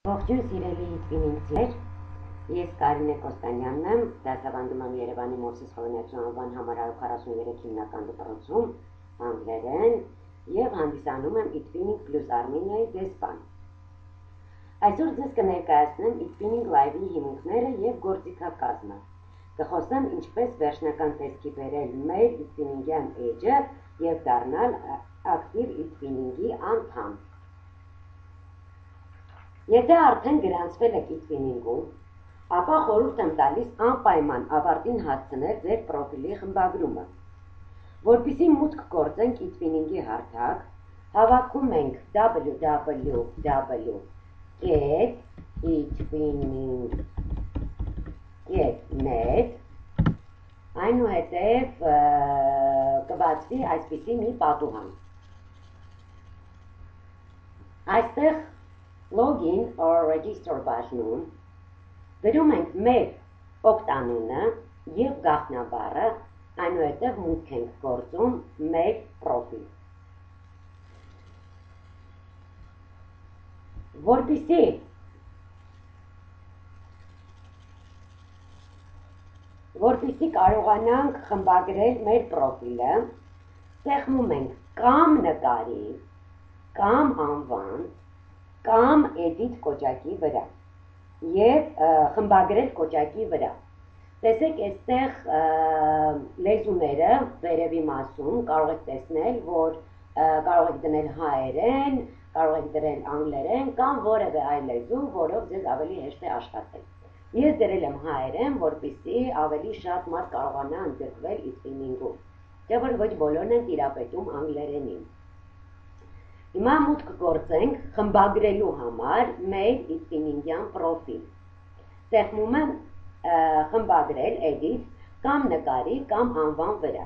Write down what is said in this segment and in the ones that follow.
Ողջույն սիրելի Տվինինգներ, ես Կարինե Կոստանյանն եմ, դասավանդում եմ Երևանի Մովսես Խոհանյացու անվան համար 143 հիմնական դպրոցում անգլերեն և հանդիսանում եմ eTwinning Plus Armeniայի դեսպան։ Այսօր ձեզ կներկայացնեմ eTwinning Live-ի հիմունքները և գործիքակազմը։ Կխոսեմ ինչպես վերջնական տեսքի բերել մեր eTwinning-յան էջը և դառնալ ակտիվ eTwinning-ի անդամ։ Եթե արդեն գրանցվել եք eTwinning-ում, ապա խորհուրդ եմ տալիս անպայման ավարտին հասցնել ձեր պրոֆիլի խմբագրումը։ Որպեսզի մուտք գործենք eTwinning-ի հարթակ, հավաքում ենք www.etwinning.net, այնուհետև կբացվի այսպիսի մի պատուհան։ Այստեղ Login or Register բաժնում գրում ենք մեր օգտանունը և գաղտնաբառը, այնուհետև մուտք ենք գործում մեր պրոֆիլ։ Որպեսզի կարողանանք խմբագրել մեր պրոֆիլը, սեղմում ենք կամ նկարի, կամ անվան, կամ edit կոճակի վրա և խմբագրել կոճակի վրա։ Տեսեք այստեղ լեզուները վերևի մասում կարող եք տեսնել, որ կարող եք դնել հայերեն, կարող եք դնել անգլերեն կամ որևէ այլ լեզու, որով ձեզ ավելի հեշտ է աշխատել։ Ես դրել եմ հայերեն, որպեսզի ավելի շատ մարդ կարողանա ընդգրկվել eTwinning-ում, թե որ ոչ բոլորն են տիրապետում անգլերենին։ Հիմա մուտք գործենք խմբագրելու համար մեր eTwinning-յան պրոֆիլ։ Սեղմում եմ խմբագրել edit կամ նկարի կամ անվան վրա։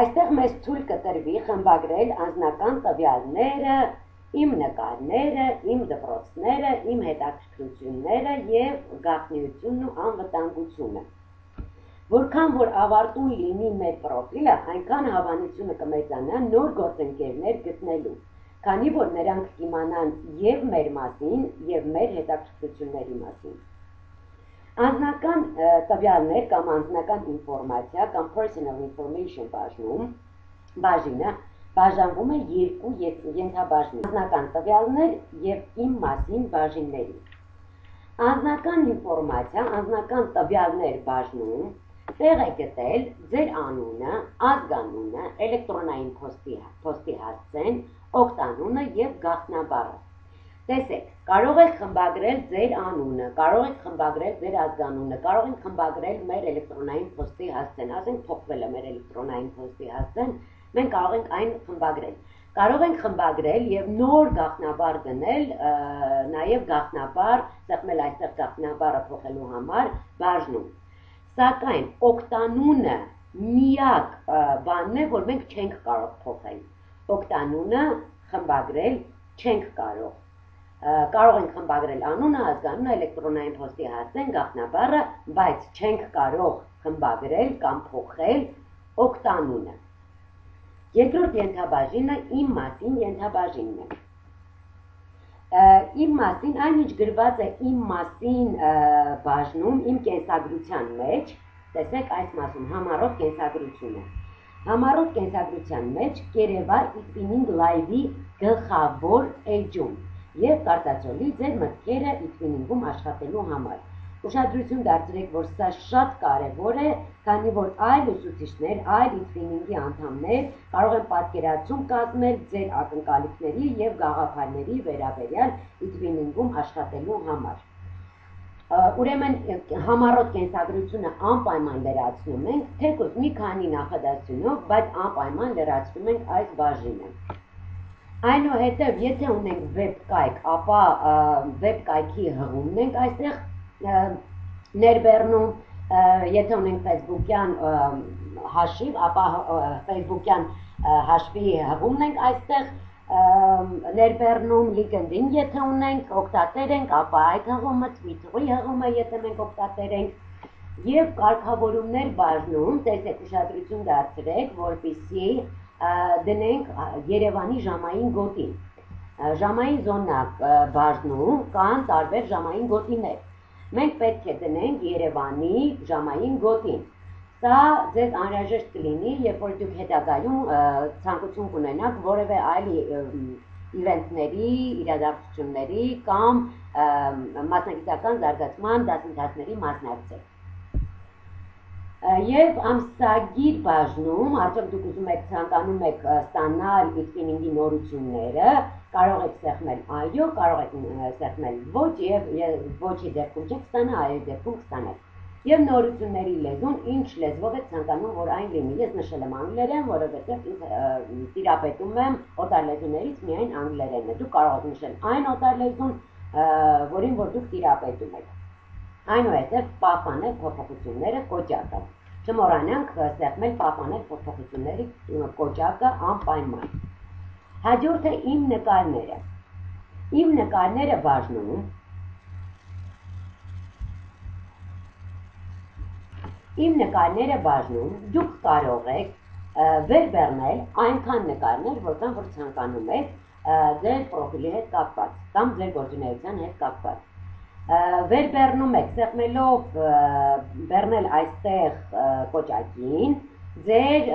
Այստեղ մեզ թույլ կտրվի խմբագրել անձնական տվյալները, իմ նկարները, իմ դպրոցները, իմ հետաքրքրությունները և գաղտնիությունն ու անվտանգությունը։ Որքան որ ավարտուն լինի մեր պրոֆիլը, այնքան հավանությունը կմեծանա նոր գործընկերներ գտնելու, քանի որ նրանք կիմանան և մեր մասին, և մեր հետաքրքրությունների մասին։ Անձնական տվյալներ կամ անձնական ինֆորմացիա կամ personal information բաժինը բաժանվում է երկու ենթաբաժնի՝ անձնական տվյալներ և իմ մասին բաժինների։ Անձնական ինֆորմացիա, անձնական տվյալներ բաժնում տեղ է գտել ձեր անունը, ազգանունը, էլեկտրոնային փոստի հասցեն, օգտանունը և գաղտնաբառը։ Տեսեք, կարող եք խմբագրել ձեր անունը, կարող եք խմբագրել ձեր ազգանունը, կարող եք խմբագրել մեր էլեկտրոնային փոստի հասցեն, ասենք փոխվել է մեր էլեկտրոնային փոստի հասցեն, մենք կարող ենք այն խմբագրել։ Կարող ենք խմբագրել և նոր գաղտնաբառ դնել, նաև գաղտնաբառ, սեղմել այստեղ գաղտնաբառը փոխելու համար բաժնում։ Սակայն օգտանունը միակ բանն է, որ մենք չենք կարող փոխել։ Օգտանունը խմբագրել չենք կարող։ Կարող ենք խմբագրել անունը, ազգանունը, էլեկտրոնային փոստի հասցեն, գաղտնաբառը, բայց չենք կարող խմբագրել կամ փոխել օգտանունը։ Երկրորդ ենթաբաժինը իմ մասին ենթաբաժինն է։ Իմ մասին, այն ինչ գրված է իմ մասին բաժնում, իմ կենսագրության մեջ, տեսեք այս մասում համառոտ կենսագրությունը։ Համառոտ կենսագրության մեջ կերևա eTwinning Live-ի գլխավոր էջում և կարտացոլի ձեր մտքերը eTwinning-ում աշխատելու համար։ Ուշադրություն դարձրեք, որ սա շատ կարևոր է, քանի որ այլ ուսուցիչներ, այլ eTwinning-ի անդամներ կարող են պատկերացում կազմել ձեր ակնկալիքների և գաղափարների վերաբերյալ eTwinning-ում աշխատելու համար։ Ուրեմն համառոտ կենսագրությունը անպայման լրացնում ենք, թեկուզ մի քանի նախադասությունով, բայց անպայման լրացնում ենք այս բաժինը։ Այնուհետև, եթե ունենք վեբկայք, ապա վեբկայքի հղումն ենք այստեղ ներբեռնում, եթե ունենք ֆեյսբուքյան հաշիվ, ապա ֆեյսբուքյան հաշվի հղումն ենք այստեղ ներբեռնում, LinkedIn եթե ունենք, օգտատեր ենք, ապա այդ հղումը, Twitter-ի հղումը, եթե մենք օգտատեր ենք, և կարգավորումներ բաժնում, տեսեք ուշադրություն դարձրեք, որպեսզի դնենք Երևանի ժամային գոտին։ Ժամային զոնա բաժնում կան տարբեր ժամային գոտիներ։ Մենք պետք է դնենք Երևանի ժամային գոտին։ Սա ձեզ անհրաժեշտ կլինի, երբ որ դուք հետագայում ցանկություն կունենաք որևէ այլ իվենտների, իրադարձությունների կամ մասնագիտական զարգացման դասընթացների մասնակցել։ Եվ ամսագիր բաժնում, արդյոք դուք ուզում եք ցանկանում եք ստանալ Xfinity նորությունները, կարող եք սեղմել այո, կարող եք սեղմել ոչ եւ ոչի դեպքում չեք ստանա, այո դեպքում կստանաք։ Եվ նորությունների լեզուն, ինչ լեզվով եք ցանկանում, որ այն լինի։ Ես նշել եմ անգլերեն, որովհետև ինձ տիրապետում եմ օտարլեզուներից միայն անգլերենն է։ Դուք կարող եք նշել այն օտարլեզուն, որին որ դուք տիրապետում եք։ Այնուհետև պահպանել փոփոխությունները կոճակը։ Չմոռանանք սեղմել պահպանել փոփոխությունների կոճակը անպայման։ Հաջորդը իմ նկարները։ Իմ նկարները բաժնում Իմ նկարները բաժնում դուք կարող եք վերբեռնել այնքան նկարներ, որքան որ ցանկանում եք ձեր պրոֆիլի հետ կապված կամ ձեր գործունեության հետ կապված։ Վերբեռնում եք սեղմելով բեռնել այստեղ կոճակին ձեր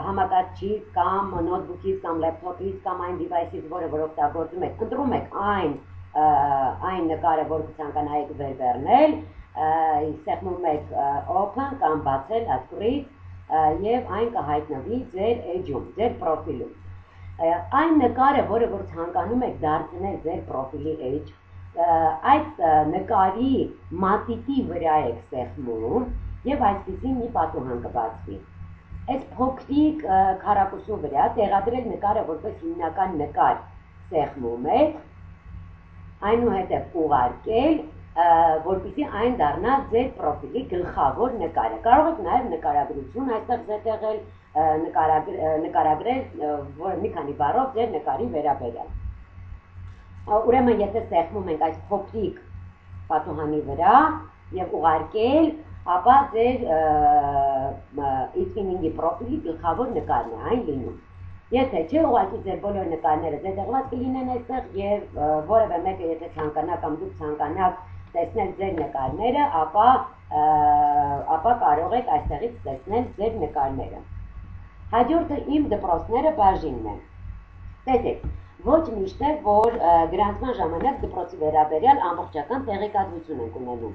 համակարգչից կամ նոթբուքից կամ լեփթոփից կամ այն դիվայսից, որը որ օգտագործում եք, ընտրում եք այն նկարը, որ կցանկանայիք վերբեռնել, սեղմում եք open կամ բացել ածկրից եւ այն կհայտնվի ձեր էջում, ձեր պրոֆիլում։ Այն նկարը, որը որ ցանկանում եք դարձնել ձեր պրոֆիլի էջ, այդ նկարի մատիտի վրա եք սեղմում եւ այսպեսի մի պատուհան կբացվի։ Այս փոքրիկ քառակուսու վրա տեղադրել նկարը որպես հիմնական նկար սեղմում եք, այնուհետև ուղարկել, որպեսզի այն դառնա ձեր պրոֆիլի գլխավոր նկարը։ Կարող եք նաև նկարագրություն այստեղ զետեղել, նկարագրել մի քանի բառով ձեր նկարի վերաբերյալ։ Ուրեմն եթե սեղմում ենք այս փոքրիկ պատուհանի վրա եւ ուղարկել, ապա ձեր Xfinity պրոֆիլի գլխավոր նկարն է այն լինում։ Եթե չէ, ուղղակի ձեր բոլոր նկարները զետեղված կլինեն այստեղ եւ որևէ մեկը եթե ցանկանա կամ դուք ցանկանաք տեսնել ձեր նկարները, ապա կարող եք այստեղից տեսնել ձեր նկարները։ Հաջորդը իմ դպրոցները բաժինն է։ Տեսեք, ոչ միշտ է, որ գրանցման ժամանակ դպրոցի վերաբերյալ ամբողջական տեղեկատվություն ենք ունենում,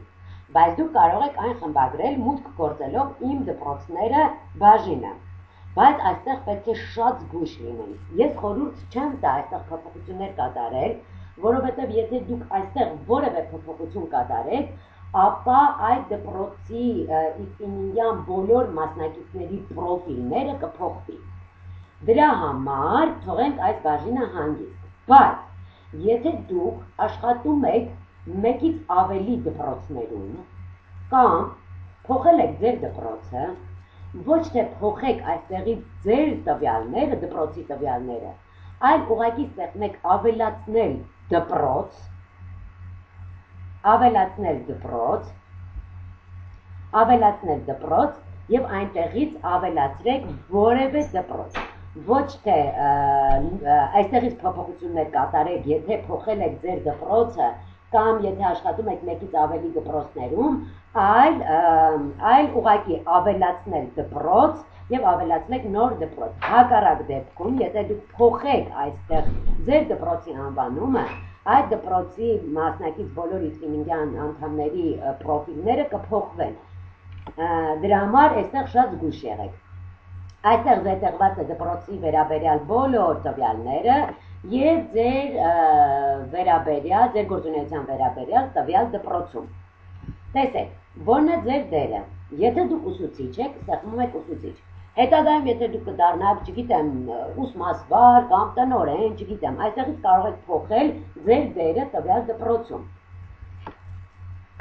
բայց դուք կարող եք այն խմբագրել մուտք գործելով իմ դպրոցները բաժինը։ Բայց այստեղ պետք է շատ զգույշ լինենք։ Ես խորհուրդ չեմ տա այստեղ փոփոխություններ կատարել, որովհետև եթե դուք այստեղ որևէ փոփոխություն կատարեք, ապա այդ դպրոցի Xfinity-յան բոլոր մասնակիցների պրոֆիլները կփոխվի։ Դրա համար թողենք այս բաժինը հանգիստ։ Բայց եթե դուք աշխատում եք մեկից ավելի դպրոցներում կամ փոխել եք ձեր դպրոցը, ոչ թե փոխեք այստեղից ձեր տվյալները, դպրոցի տվյալները, այլ ուղղակի սեղմեք ավելացնել դպրոց եւ այնտեղից ավելացրեք որևէ դպրոց։ Ոչ թե այստեղից փոփոխություններ կատարեք, եթե փոխել եք ձեր դպրոցը կամ եթե աշխատում եք մեկից ավելի դպրոցներում, այլ ուղղակի ավելացնել դպրոց եւ ավելացնեք նոր դպրոց։ Հակառակ դեպքում, եթե դուք փոխեք այստեղ ձեր դպրոցի անվանումը, այդ դպրոցի մասնակից բոլոր Xfinity-յան անդամների պրոֆիլները կփոխվեն։ Դրա համար այստեղ շատ զգույշ եղեք։ Այստեղ զետեղված է դպրոցի վերաբերյալ բոլոր տվյալները եւ ձեր գործունեության վերաբերյալ տվյալ դպրոցում։ Տեսեք, որն է ձեր դերը։ Եթե դուք ուսուցիչ եք, սեղմում եք ուսուցիչ։ Հետագայում եթե դուք կդառնաք, չգիտեմ, ուսմասվար կամ տնօրեն, չգիտեմ, այստեղից կարող եք փոխել ձեր դերը տվյալ դպրոցում։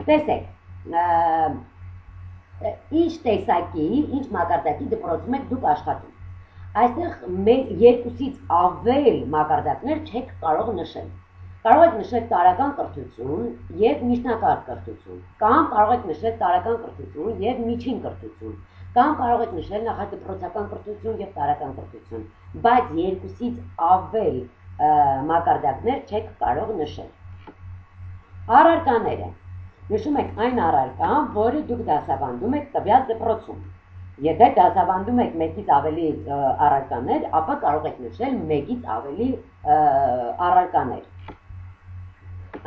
Տեսեք, ինչ տեսակի, ինչ մակարդակի դպրոցում եք դուք աշխատում։ Այստեղ երկուսից ավել մակարդակներ չեք կարող նշել։ Կարող եք նշել տարրական կրթություն եւ միջնակարգ կրթություն, կամ կարող եք նշել տարրական կրթություն եւ միջին կրթություն, Կամ կարող եք նշել նախադպրոցական կրթություն եւ տարրական կրթություն, բայց երկուսից ավել մակարդակներ չեք կարող նշել։ Առարկաները։ Նշում եք այն առարկան, որը դուք դասավանդում եք տվյալ դպրոցում։ Եթե դասավանդում եք մեկից ավելի առարկաներ, ապա կարող եք նշել մեկից ավելի առարկաներ։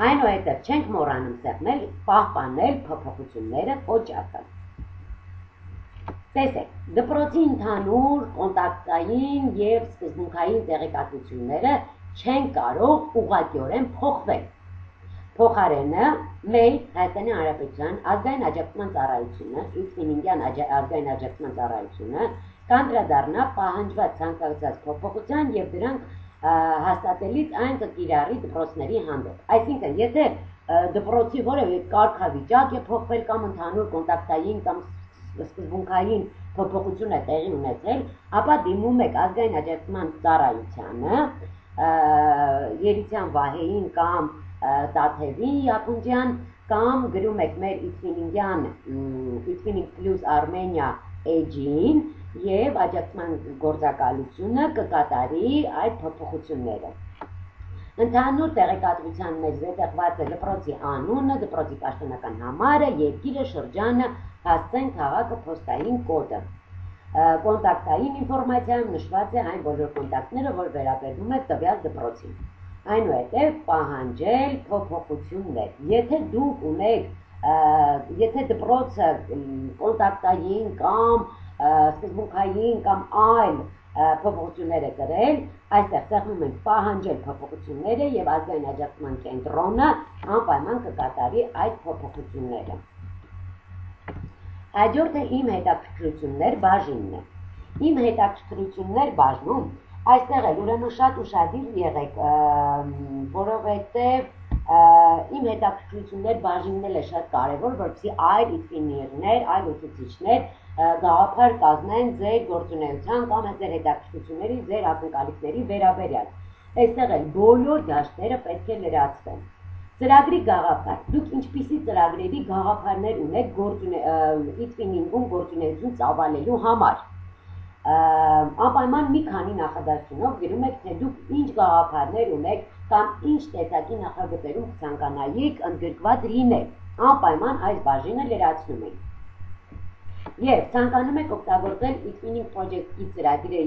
Այնուհետև չենք մոռանում սեղմել, պահպանել փոփոխությունները օջախը։ Տեսեք, դպրոցի ընդհանուր կոնտակտային եւ սկզբունքային տեղեկատվությունները չեն կարող ուղղակիորեն փոխվել։ Փոխարենը մեր Հայաստանի Հանրապետության ազգային աջակցության ծառայությունը, Իցմինինգյան ազգային աջակցության ծառայությունը կանդրադառնա պահանջված ցանկացած փոփոխության եւ դրանք հաստատելիս այն կկիրառի դպրոցների հանդեպ։ Այսինքն, եթե դպրոցի որևէ կարգավիճակ է փոխվել կամ ընդհանուր կոնտակտային կամ սկզբունքային փոփոխություն է տեղի ունեցել, ապա դիմում եք ազգային աջակցության ծառայությանը, Երիցյան Վահեին կամ Տաթևի Ախունդյան կամ գրում եք մեր Իցմինինգ Plus Armenia էջին եւ աջակցման գործակալությունը կկատարի այդ փոփոխությունները։ Ընդհանուր տեղեկատվության մեջ զետեղված է դպրոցի անունը, դպրոցի պաշտոնական համարը, երկիրը, շրջանը, հասցեն, քաղաքը, փոստային կոդը։ Կոնտակտային ինֆորմացիայում նշված է այն բոլոր կոնտակտները, որ վերաբերում է տվյալ դպրոցին։ Այնուհետև պահանջել փոփոխություններ։ Եթե դուք ունեք, եթե դպրոցը կոնտակտային կամ սկզբունքային կամ այլ փոփոխություններ է կրել, այստեղ սեղմում ենք պահանջել փոփոխությունները եւ ազգային աջակցման կենտրոնը անպայման կկատարի այդ փոփոխությունները։ Հաջորդը իմ հետաքրքրություններ բաժինն է։ Իմ հետաքրքրություններ բաժնում այստեղ էլ ուրեմն շատ ուշադիր եղեք, որովհետև իմ հետաքրքրություններ բաժինն է շատ կարևոր, որպեսզի այլ ինժեներներ, այլ ուսուցիչներ գաղափար կազմեն ձեր գործունեության կամ ձեր հետաքրքրությունների, ձեր ակնկալիքների վերաբերյալ։ Այստեղ էլ բոլոր դաշտերը պետք է լրացվեն։ Ծրագրի գաղափար։ Դուք ինչպիսի ծրագրերի գաղափարներ ունեք Իցմինինգում գործունեություն ծավալելու համար։ Անպայման մի քանի նախադասությունով գրում եք, թե դուք ինչ գաղափարներ ունեք կամ ինչ տեսակի նախագծերում կցանկանայիք ընդգրկված լինել։ Անպայման այս բաժինը լրացնում եք։ Եվ ցանկանում եք օգտագործել Itzmining Project-ի ծրագիրը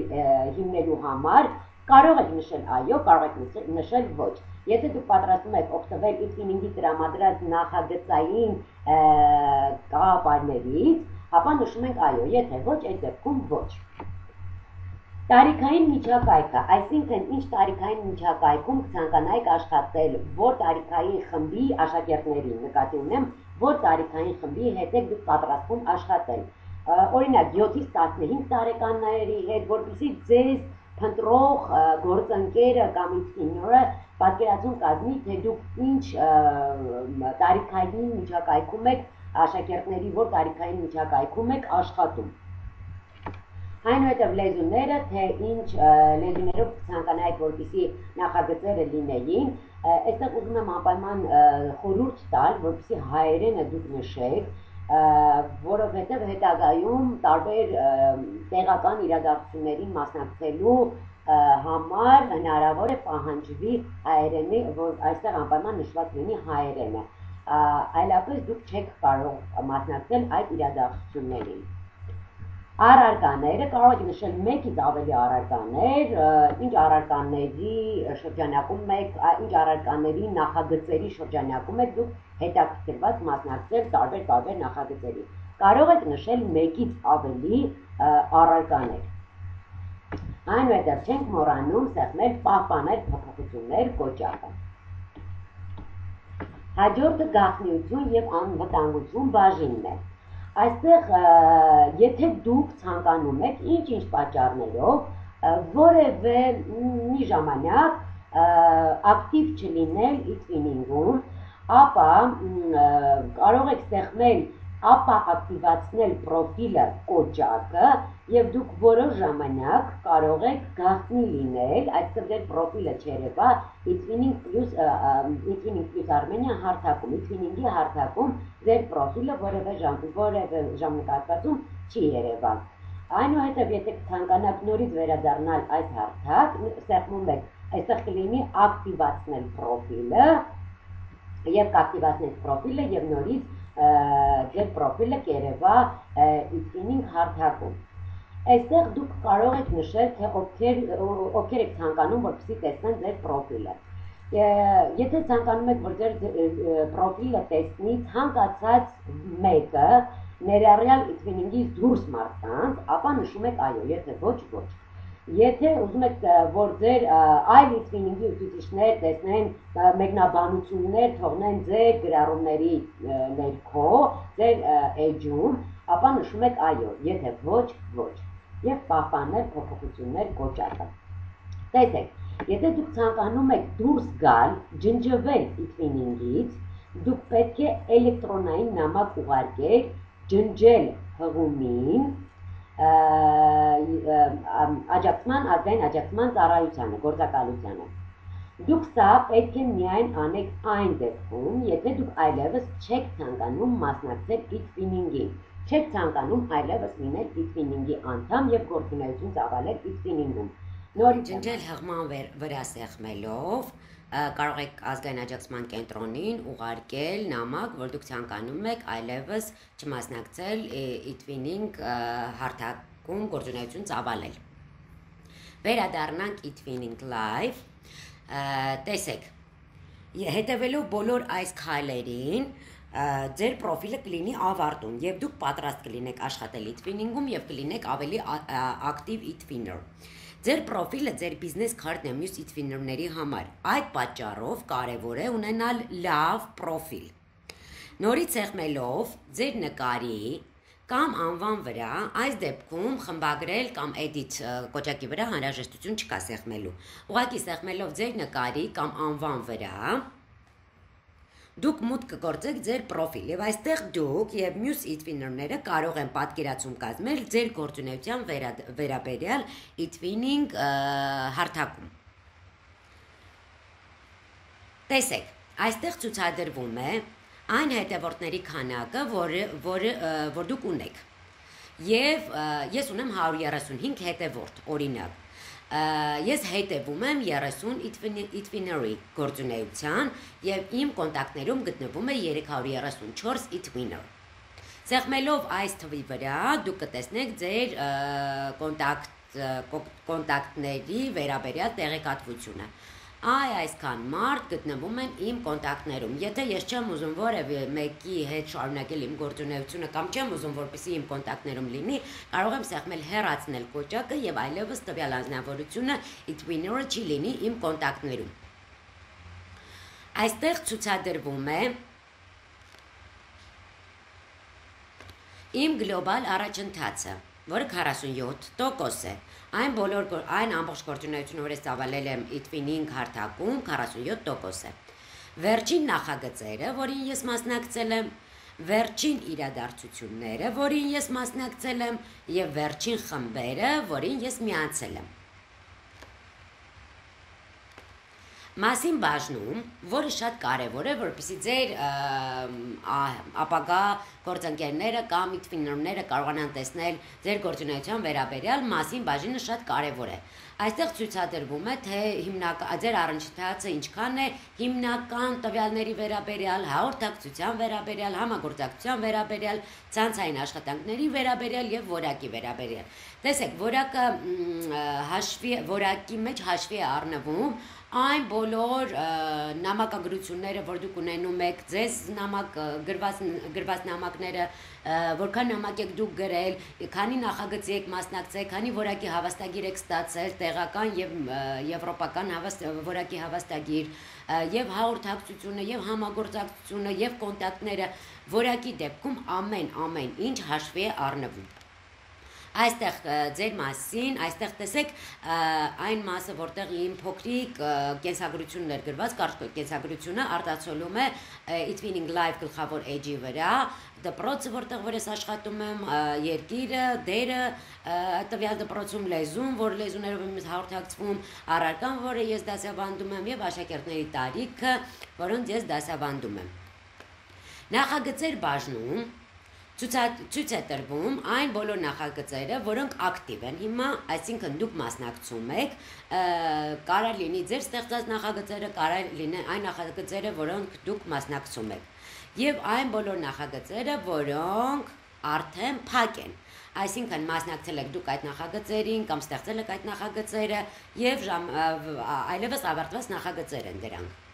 հիմնելու համար, կարող եք նշել այո, կարող եք նշել ոչ։ Եթե դուք պատրաստում եք օգտվել Itzmining-ի տրամադրած նախագծային գաղափարներից, ապա նշում ենք այո, եթե ոչ, այդ դեպքում ոչ։ Տարիքային միջակայքը, այսինքն ինչ տարիքային միջակայքում կցանկանայիք աշխատել, որ տարիքային խմբի աշակերտներին, նկատի ունեմ, որ տարիքային խմբի հետ եք դուք պատրաստվում աշխատել։ Օրինակ 7-ից 15 տարեկանների հետ, որպեսզի ձեզ փնտրող գործընկերը կամ ինժեները պատկերացում կազմի, թե դուք ինչ տարիքային միջակայքում եք աշակերտների, որ տարիքային միջակայքում եք աշխատում։ Այնուհետև լեզուները, թե ինչ լեզուներով ցանկանայիք, որպեսզի նախագծերը լինեին, այստեղ ուզում եմ անպայման խորհուրդ տալ, որպեսզի հայերենը դուք նշեք, որովհետև հետագայում տարբեր տեղական իրադարձություններին մասնակցելու համար հնարավոր է պահանջվի հայերենի, որ այստեղ անպայման նշված լինի հայերենը, այլապես դուք չեք կարող մասնակցել այդ իրադարձություններին։ Առարկաները կարող եք նշել մեկից ավելի առարկաներ, ինչ առարկաների շրջանակում եք, ինչ առարկաների նախագծերի շրջանակում եք դուք հետաքրքրված մասնակցել տարբեր նախագծերի։ Կարող եք նշել մեկից ավելի առարկաներ։ Այնուհետև չենք մոռանում սեղմել պահպանել փոփոխություններ կոճակը։ Հաջորդը գաղտնիություն եւ անվտանգություն բաժինն է։ Այստեղ եթե դուք ցանկանում եք ինչ-ինչ պատճառներով որևէ մի ժամանակ ակտիվ չլինել Itzmining-ում, ապա կարող եք սեղմել ապա ակտիվացնել պրոֆիլը կոճակը եւ դուք որոշ ժամանակ կարող եք գաղտնի լինել, այսինքն ձեր պրոֆիլը չերևա Itwinning plus Armenia հարթակում, Itwinning-ի հարթակում ձեր պրոֆիլը որևէ ժամանակահատվածում չի երևա։ Այնուհետև եթե ցանկանաք նորից վերադառնալ այս հարթակ, ստեղծում եք այստեղ կլինի ակտիվացնել պրոֆիլը եւ կակտիվացնեք պրոֆիլը եւ նորից ձեր պրոֆիլը կերևա Itwinning հարթակում։ Այստեղ դուք կարող եք նշել, թե ովքեր եք ցանկանում, որպեսզի տեսնեն ձեր պրոֆիլը։ Եթե ցանկանում եք, որ ձեր պրոֆիլը տեսնի ցանկացած մեկը, ներառյալ Itwinning-ից դուրս մարդկանց, ապա նշում եք այո, եթե ոչ, ոչ։ Եթե ուզում եք, որ ձեր այլ Itwinning-ի ուսուցիչներ տեսնեն մեկնաբանություններ, թողնեն ձեր գրառումների ներքո, ձեր էջում, ապա նշում եք այո, եթե ոչ, ոչ։ Եվ պահպանել փոփոխություններ կոճակը։ Տեսեք, եթե դուք ցանկանում եք դուրս գալ, ջնջվել Itwinning-ից, դուք պետք է էլեկտրոնային նամակ ուղարկել, ջնջել հղումին, ազգային աջակցման ծառայությանը, գործակալությանը։ Դուք սա պետք է միայն անեք այն դեպքում, եթե դուք այլևս չեք ցանկանում մասնակցել Itwinning-ին, չեք ցանկանում այլևս լինել Itwinning-ի անդամ եւ գործունեություն ծավալել Itwinning-ում։ Նորից ջնջել հղման վրա սեղմելով կարող եք ազգային աջակցման կենտրոնին ուղարկել նամակ, որ դուք ցանկանում եք այլևս չմասնակցել Itwinning հարթակում գործունեություն ծավալել։ Վերադառնանք Itwinning Live, տեսեք, հետևելով բոլոր այս քայլերին, ձեր պրոֆիլը կլինի ավարտուն եւ դուք պատրաստ կլինեք աշխատել Itwinning-ում եւ կլինեք ավելի ակտիվ Itwinner։ Ձեր պրոֆիլը ձեր բիզնես քարտն է մյուս Itwinner-ների համար։ Այդ պատճառով կարևոր է ունենալ լավ պրոֆիլ։ Նորից սեղմելով ձեր նկարի կամ անվան վրա, այս դեպքում խմբագրել կամ edit կոճակի վրա անհրաժեշտություն չկա սեղմելու։ Ուղղակի սեղմելով ձեր նկարի կամ անվան վրա, դուք մուտք կգործեք ձեր պրոֆիլ եւ այստեղ դուք եւ մյուս Itwinner-ները կարող են պատկերացում կազմել ձեր գործունեության վերաբերյալ Itwinning հարթակում։ Տեսեք, այստեղ ցուցադրվում է այն հետևորդների քանակը, որ դուք ունեք։ Եվ ես ունեմ 135 հետևորդ, օրինակ։ Ես հետևում եմ 30 Itwinner-ի գործունեության եւ իմ կոնտակտներում գտնվում է 334 Itwinner։ Սեղմելով այս թվի վրա դուք կտեսնեք ձեր կոնտակտների վերաբերյալ տեղեկատվությունը։ Այսքան մարդ գտնվում են իմ կոնտակտներում։ Եթե ես չեմ ուզում որևէ մեկի հետ շարունակել իմ գործունեությունը կամ չեմ ուզում, որպեսզի իմ կոնտակտներում լինի, կարող եմ սեղմել հեռացնել կոճակը եւ այլևս տվյալ անձնավորությունը Itwinner-ը չի լինի իմ կոնտակտներում։ Այստեղ ցուցադրվում է իմ գլոբալ առաջընթացը, որը 47% է։ Այն ամբողջ գործունեությունը, որ ես ծավալել եմ Itwinning հարթակում, 47% է։ Վերջին նախագծերը, որին ես մասնակցել եմ, վերջին իրադարձությունները, որին ես մասնակցել եմ, եւ վերջին խմբերը, որին ես միացել եմ։ Մասին բաժնում, որը շատ կարևոր է, որպեսզի ձեր ապագա գործընկերները կամ Itwinner-ները կարողանան տեսնել ձեր գործունեության վերաբերյալ, մասին բաժինը շատ կարևոր է։ Այստեղ ցուցադրվում է, թե ձեր առընթացը ինչքան է հիմնական տվյալների վերաբերյալ, հաղորդակցության վերաբերյալ, համագործակցության վերաբերյալ, ցանցային աշխատանքների վերաբերյալ եւ որակի վերաբերյալ։ Տեսեք, որակի մեջ հաշվի է առնվում այն բոլոր նամակագրությունները, որ դուք ունենում եք, ձեզ գրված նամակները, որքան նամակ եք դուք գրել, քանի նախագծի եք մասնակցել, քանի որակի հավաստագիր եք ստացել, տեղական եւ եվրոպական որակի հավաստագիր, եւ հաղորդակցությունը, եւ համագործակցությունը, եւ կոնտակտները, որակի դեպքում ամեն ինչ հաշվի է առնվում։ Այստեղ ձեր մասին, այստեղ տեսեք այն մասը, որտեղ իմ փոքրիկ կենսագրությունն էր գրված, կարճ կենսագրությունը արտացոլում է Itwinning Live գլխավոր էջի վրա, դպրոցը, որտեղ որ ես աշխատում եմ, երկիրը, դերը, տվյալ դպրոցում լեզուն, որ լեզուներով եմ հաղորդակցվում, առարկան, որը ես դասավանդում եմ, եւ աշակերտների տարիքը, որոնց ես դասավանդում եմ։ Նախագծեր բաժնում ցույց է տրվում այն բոլոր նախագծերը, որոնք ակտիվ են հիմա, այսինքն դուք մասնակցում եք, կարող լինի ձեր ստեղծած նախագծերը, կարող լինի այն նախագծերը, որոնք դուք մասնակցում եք, եւ այն բոլոր նախագծերը, որոնք արդեն փակ են, այսինքն մասնակցել եք դուք այդ նախագծերին կամ ստեղծել եք այդ նախագծերը եւ այլևս ավարտված նախագծեր են դրանք։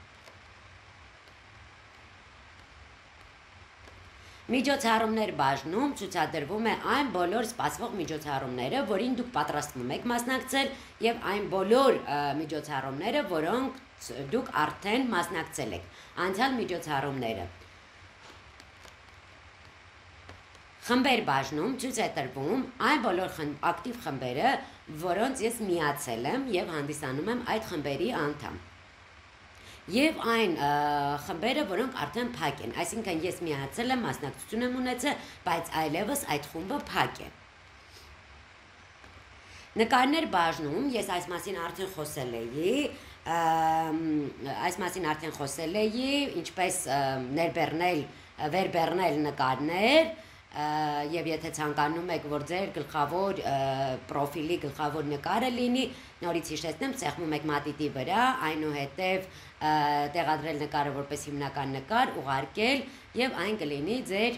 Միջոցառումներ բաժնում ցուցադրվում է այն բոլոր սպասվող միջոցառումները, որին դուք պատրաստվում եք մասնակցել, եւ այն բոլոր միջոցառումները, որոնք դուք արդեն մասնակցել եք, անցյալ միջոցառումները։ Խմբեր բաժնում ցույց է տրվում այն բոլոր ակտիվ խմբերը, որոնց ես միացել եմ եւ հանդիսանում եմ այդ խմբերի անդամ։ Եվ այն խմբերը, որոնք արդեն փակ են, այսինքն ես միացել եմ, մասնակցություն եմ ունեցել, բայց այլևս այդ խումբը փակ է։ Նկարներ բաժնում, ես այս մասին արդեն խոսել էի, ինչպես վերբեռնել նկարներ, եւ եթե ցանկանում եք, որ ձեր գլխավոր պրոֆիլի գլխավոր նկարը լինի, նորից հիշեցնեմ, ծեղմում եք մատիտի վրա, այնուհետև տեղադրել նկարը որպես հիմնական նկար, ուղարկել եւ այն կլինի ձեր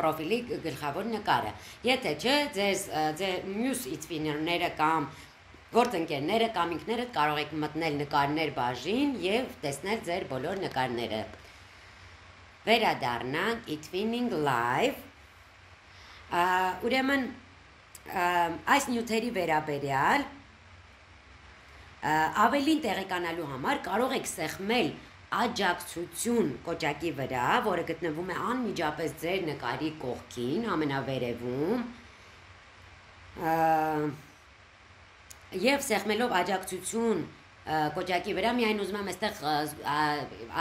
պրոֆիլի գլխավոր նկարը։ Եթե չէ, ձեր մյուս Itwinner-ները կամ գործընկերները կամ ինքներդ կարող եք մտնել նկարներ բաժին եւ տեսնել ձեր բոլոր նկարները։ Վերադառնանք Itwinning Live, ուրեմն այս նյութերի վերաբերյալ ավելին տեղեկանալու համար կարող եք սեղմել աջակցություն կոճակի վրա, որը գտնվում է անմիջապես ձեր նկարի կողքին, ամենավերևում, եւ սեղմելով աջակցություն կոճակի վրա միայն ուզում եմ այստեղ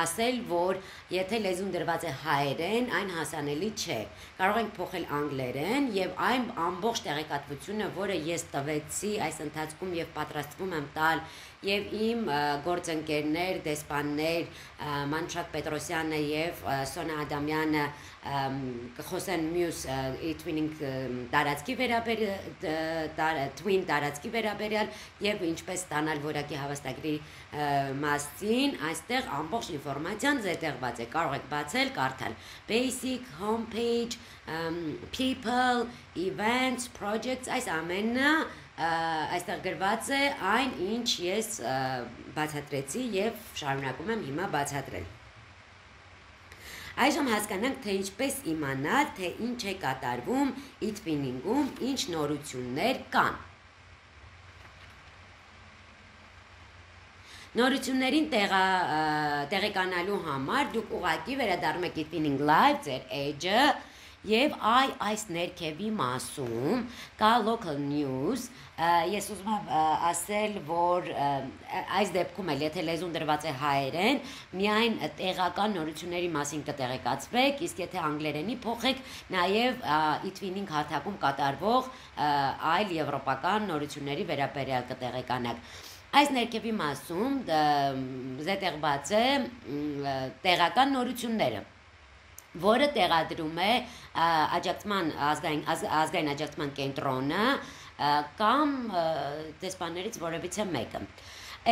ասել, որ եթե լեզուն դրված է հայերեն, այն հասանելի չէ։ Կարող ենք փոխել անգլերեն եւ այն ամբողջ տեղեկատվությունը, որը ես տվեցի այս ընթացքում եւ պատրաստվում եմ տալ եւ իմ գործընկերներ, դեսպաններ Մանուշակ Պետրոսյանը եւ Սոնա Ադամյանը կխոսեն մյուս Itwinning տարածքի Twin տարածքի վերաբերյալ եւ ինչպես ստանալ որակի հավաստագրի մասին, այստեղ ամբողջ ինֆորմացիան զետեղված է, կարող եք բացել, կարդալ basic, homepage, people, events, projects, այս ամենը այստեղ գրված է այն, ինչ ես բացատրեցի եւ շարունակում եմ հիմա բացատրել։ Այժմ հասկանանք, թե ինչպես իմանալ, թե ինչ է կատարվում Itwinning-ում, ինչ նորություններ կան։ Նորություններին տեղեկանալու համար դուք ուղղակի վերադառնում եք Itwinning Live ձեր էջը եւ այս ներքևի մասում կա local news, ես ուզում եմ ասել, որ այս դեպքում էլ եթե լեզուն դրված է հայերեն, միայն տեղական նորությունների մասին կտեղեկացվեք, իսկ եթե անգլերենի փոխեք, նաև Itwinning հարթակում կատարվող այլ եվրոպական նորությունների վերաբերյալ կտեղեկանաք։ Այս ներքևի մասում զետեղված է տեղական նորությունները, որը տեղադրում է ազգային աջակցման կենտրոնը կամ դեսպաններից որևիցե մեկը։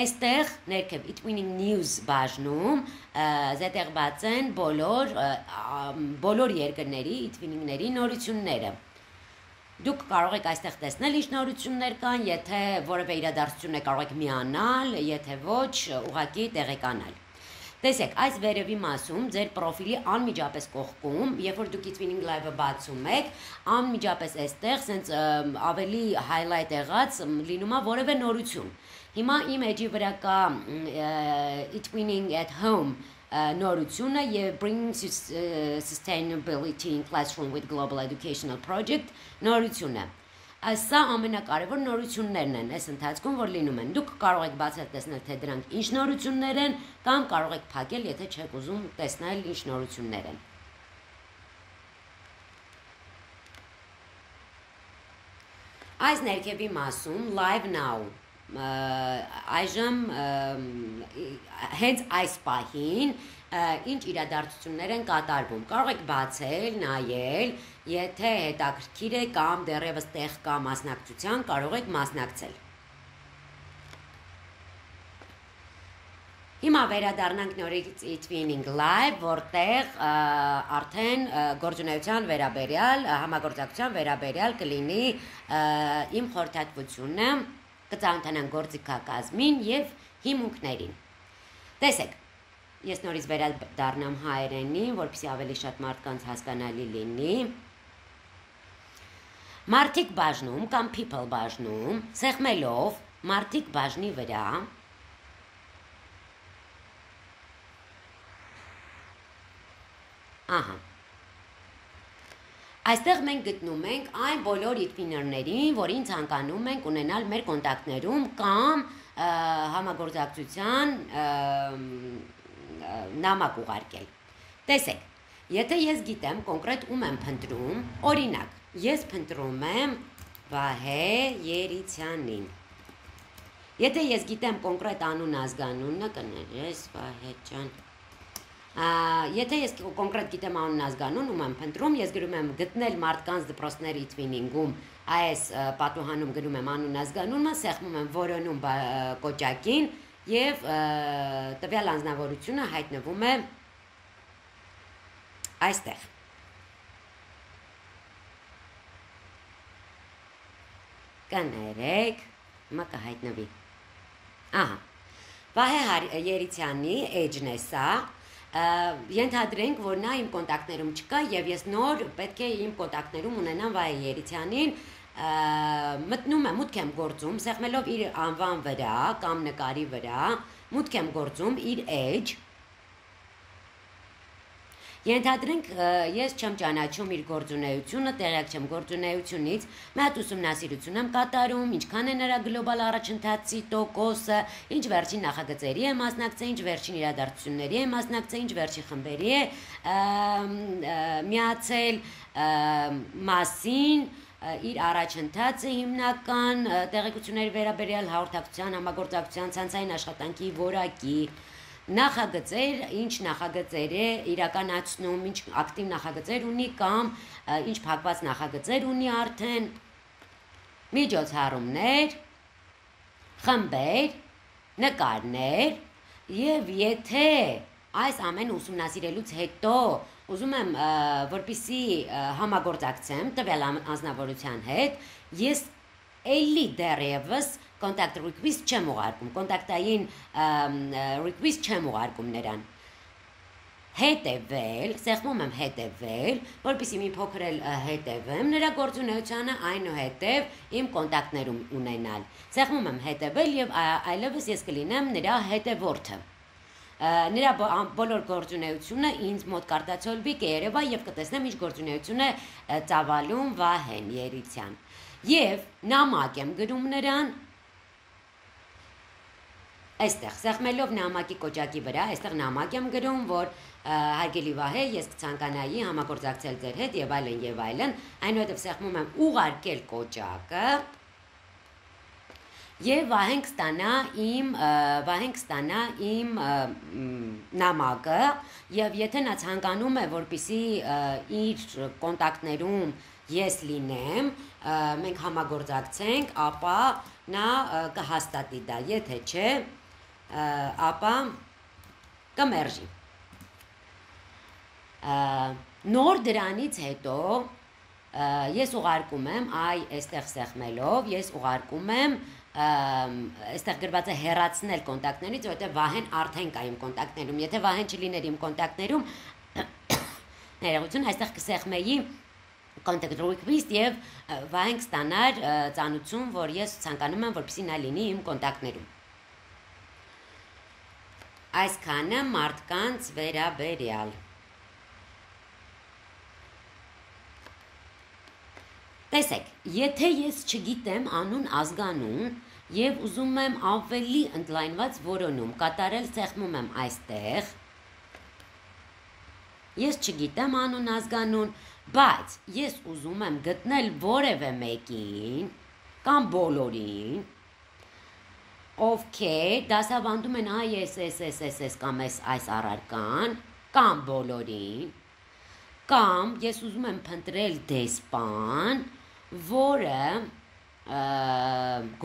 Այստեղ ներքև Itwinning News բաժնում զետեղված են բոլոր երկրների Itwinning-ների նորությունները։ Դուք կարող եք այստեղ տեսնել ինչ նորություններ կան, եթե որևէ իրադարձություն է կարող եք միանալ, եթե ոչ, ուղղակի տեղեկանալ։ Տեսեք, այս վերևի մասում ձեր պրոֆիլի անմիջապես կողքում, երբ որ դուք Itwinning Live-ը բացում եք, անմիջապես այստեղ սենց ավելի highlight եղած լինում է որևէ նորություն։ Հիմա իմ էջի վրա կա Itwinning at home նորությունը եւ Bringing Sustainability in Classroom with Global Educational Project նորությունը Սա ամենակարևոր նորություններն են այս ընթացքում, որ լինում են։ Դուք կարող եք բացել տեսնել, թե դրանք ինչ նորություններ են, կամ կարող եք փակել, եթե չեք ուզում տեսնել ինչ նորություններ են։ Այս ներքևի մասում Live Now այժմ հենց այս պահին ինչ իրադարձություններ են կատարվում։ Կարող եք բացել, նայել, եթե հետաքրքիր է կամ դեռևս տեղ կա մասնակցության, կարող եք մասնակցել։ Հիմա վերադառնանք նորից Twinning Live, որտեղ արդեն գործունեության վերաբերյալ, համագործակցության վերաբերյալ կլինի իմ խորհրդատվությունը, կծանոթանանք գործիքակազմին եւ հիմունքներին։ Տեսեք, ես նորից վերադառնամ հայերենին, որպեսզի ավելի շատ մարդկանց հասկանալի լինի։ Մարդիկ բաժնում կամ people բաժնում, սեղմելով մարդիկ բաժնի վրա Ահա Այստեղ մենք գտնում ենք այն բոլոր իդվիներներին, որին ցանկանում ենք ունենալ մեր կոնտակտներում կամ համագործակցության նամակ ուղարկել։ Տեսեք, եթե ես գիտեմ կոնկրետ ում եմ փնտրում, օրինակ, ես փնտրում եմ Վահե Երիցյանին։ Եթե ես գիտեմ կոնկրետ անուն ազգանունը, կներես Վահե ջան Եթե ես կոնկրետ գիտեմ անուն ազգանուն, ում եմ փնտրում, ես գրում եմ գտնել մարդկանց դպրոցների Twinning-ում, այս պատուհանում գրում եմ անուն ազգանունը, սեղմում եմ որոնում կոճակին եւ տվյալ անձնավորությունը հայտնվում է այստեղ։ Կներեք, հիմա կհայտնվի։ Ահա։ Վահե Երիցյանի էջն է սա։ Ենթադրենք, որ նա իմ կոնտակտներում չկա եւ ես նոր պետք է իմ կոնտակտներում ունենամ Վահե Երիցյանին, մուտք եմ գործում, սեղմելով իր անվան վրա կամ նկարի վրա, մուտք եմ գործում իր էջ։ Ենթադրենք, ես չեմ ճանաչում իր գործունեությունը, տեղյակ չեմ գործունեությունից, մի հատ ուսումնասիրություն եմ կատարում, ինչքան է նրա գլոբալ առաջընթացի տոկոսը, ինչ վերջին նախագծերի է մասնակցել, ինչ վերջին իրադարձությունների է մասնակցել, ինչ վերջին խմբերի է միացել մասին, իր առաջընթացը հիմնական տեղեկությունների վերաբերյալ հաղորդակցության, համագործակցության, ցանցային աշխատանքի որակի Նախագծեր, ինչ նախագծեր է իրականացնում, ինչ ակտիվ նախագծեր ունի կամ ինչ փակված նախագծեր ունի արդեն, միջոցառումներ, խմբեր, նկարներ եւ եթե այս ամեն ուսումնասիրելուց հետո ուզում եմ որպեսզի համագործակցեմ տվյալ անձնավորության հետ, ես էլի դեռևս contact request չեմ ուղարկում, կոնտակտային request չեմ ուղարկում նրան։ Հետևել, սեղմում եմ հետևել, որպեսզի մի փոքր էլ հետևեմ, նրա գործունեությանը այնուհետև իմ կոնտակտներում ունենալ։ Սեղմում եմ հետևել եւ այլևս ես կլինեմ նրա հետևորդը։ Նրա բոլոր գործունեությունը ինձ մոտ կարտացոլվի կերևա եւ կտեսնեմ ինչ գործունեություն է ծավալում Վահեն Երիցյան։ Եվ նամակ եմ գրում նրան Այստեղ սեղմելով նամակի կոճակի վրա, այստեղ նամակ եմ գրում, որ հարգելի Վահե, ես կցանկանայի համագործակցել ձեր հետ եւ այլն, այնուհետեւ սեղմում եմ ուղարկել կոճակը եւ Վահեն կստանա իմ նամակը եւ եթե նա ցանկանում է, որպեսզի իր կոնտակտներում ես լինեմ, մենք համագործակցենք, ապա նա կհաստատի դա, եթե չէ, ապա կմերժի։ Նոր դրանից հետո ես ուղարկում եմ, այստեղ սեղմելով, ես ուղարկում եմ, այստեղ գրված է հեռացնել կոնտակտներից, որովհետև Վահեն արդեն կա իմ կոնտակտներում, եթե Վահեն չլիներ իմ կոնտակտներում, ներողություն, այստեղ կսեղմեի contact request եւ Վահեն կստանար ծանուցում, որ ես ցանկանում եմ, որպեսզի նա լինի իմ կոնտակտներում։ Այսքանը մարդկանց վերաբերյալ։ Տեսեք, եթե ես չգիտեմ անուն ազգանուն եւ ուզում եմ ավելի ընդլայնված որոնում կատարել, սեղմում եմ այստեղ։ Ես չգիտեմ անուն ազգանուն, բայց ես ուզում եմ գտնել որևէ մեկին կամ բոլորին, ովքեր դասավանդում են այս կամ այս առարկան, կամ բոլորին, կամ ես ուզում եմ փնտրել դեսպան, որը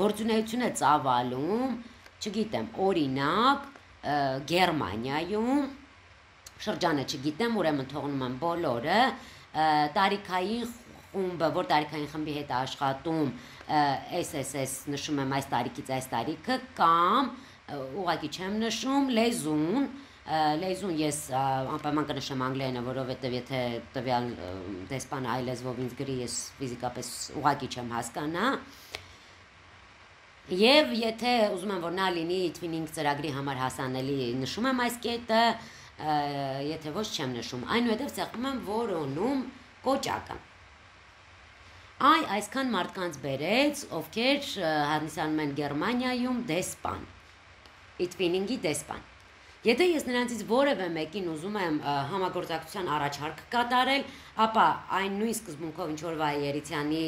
գործունեություն է ծավալում, չգիտեմ, օրինակ, Գերմանիայում, շրջանը չգիտեմ, ուրեմն թողնում եմ բոլորը, տարիքային խումբը, որ տարիքային խմբի հետ աշխատում, SSS նշում եմ այս տարիքից այս տարիքը, կամ ուղղակի չեմ նշում, լեզուն ես անպայման կնշեմ անգլերենը, որովհետև եթե տվյալ դեսպանը այլ լեզվով ինձ գրի, ես ֆիզիկապես ուղղակի չեմ հասկանա։ Եվ եթե ուզում եմ, որ նա լինի Twinning ծրագրի համար հասանելի, նշում եմ այս կետը, եթե ոչ չեմ նշում, այնուհետև ցեղում եմ որոնում կոճակը։ Այսքան մարդկանց բերեց, ովքեր հանդիսանում են Գերմանիայում դեսպան, Twinning-ի դեսպան։ Եթե ես նրանցից որևէ մեկին ուզում եմ համագործակցության առաջարկ կատարել, ապա այն նույն սկզբունքով ինչ որ Վայերիցյանի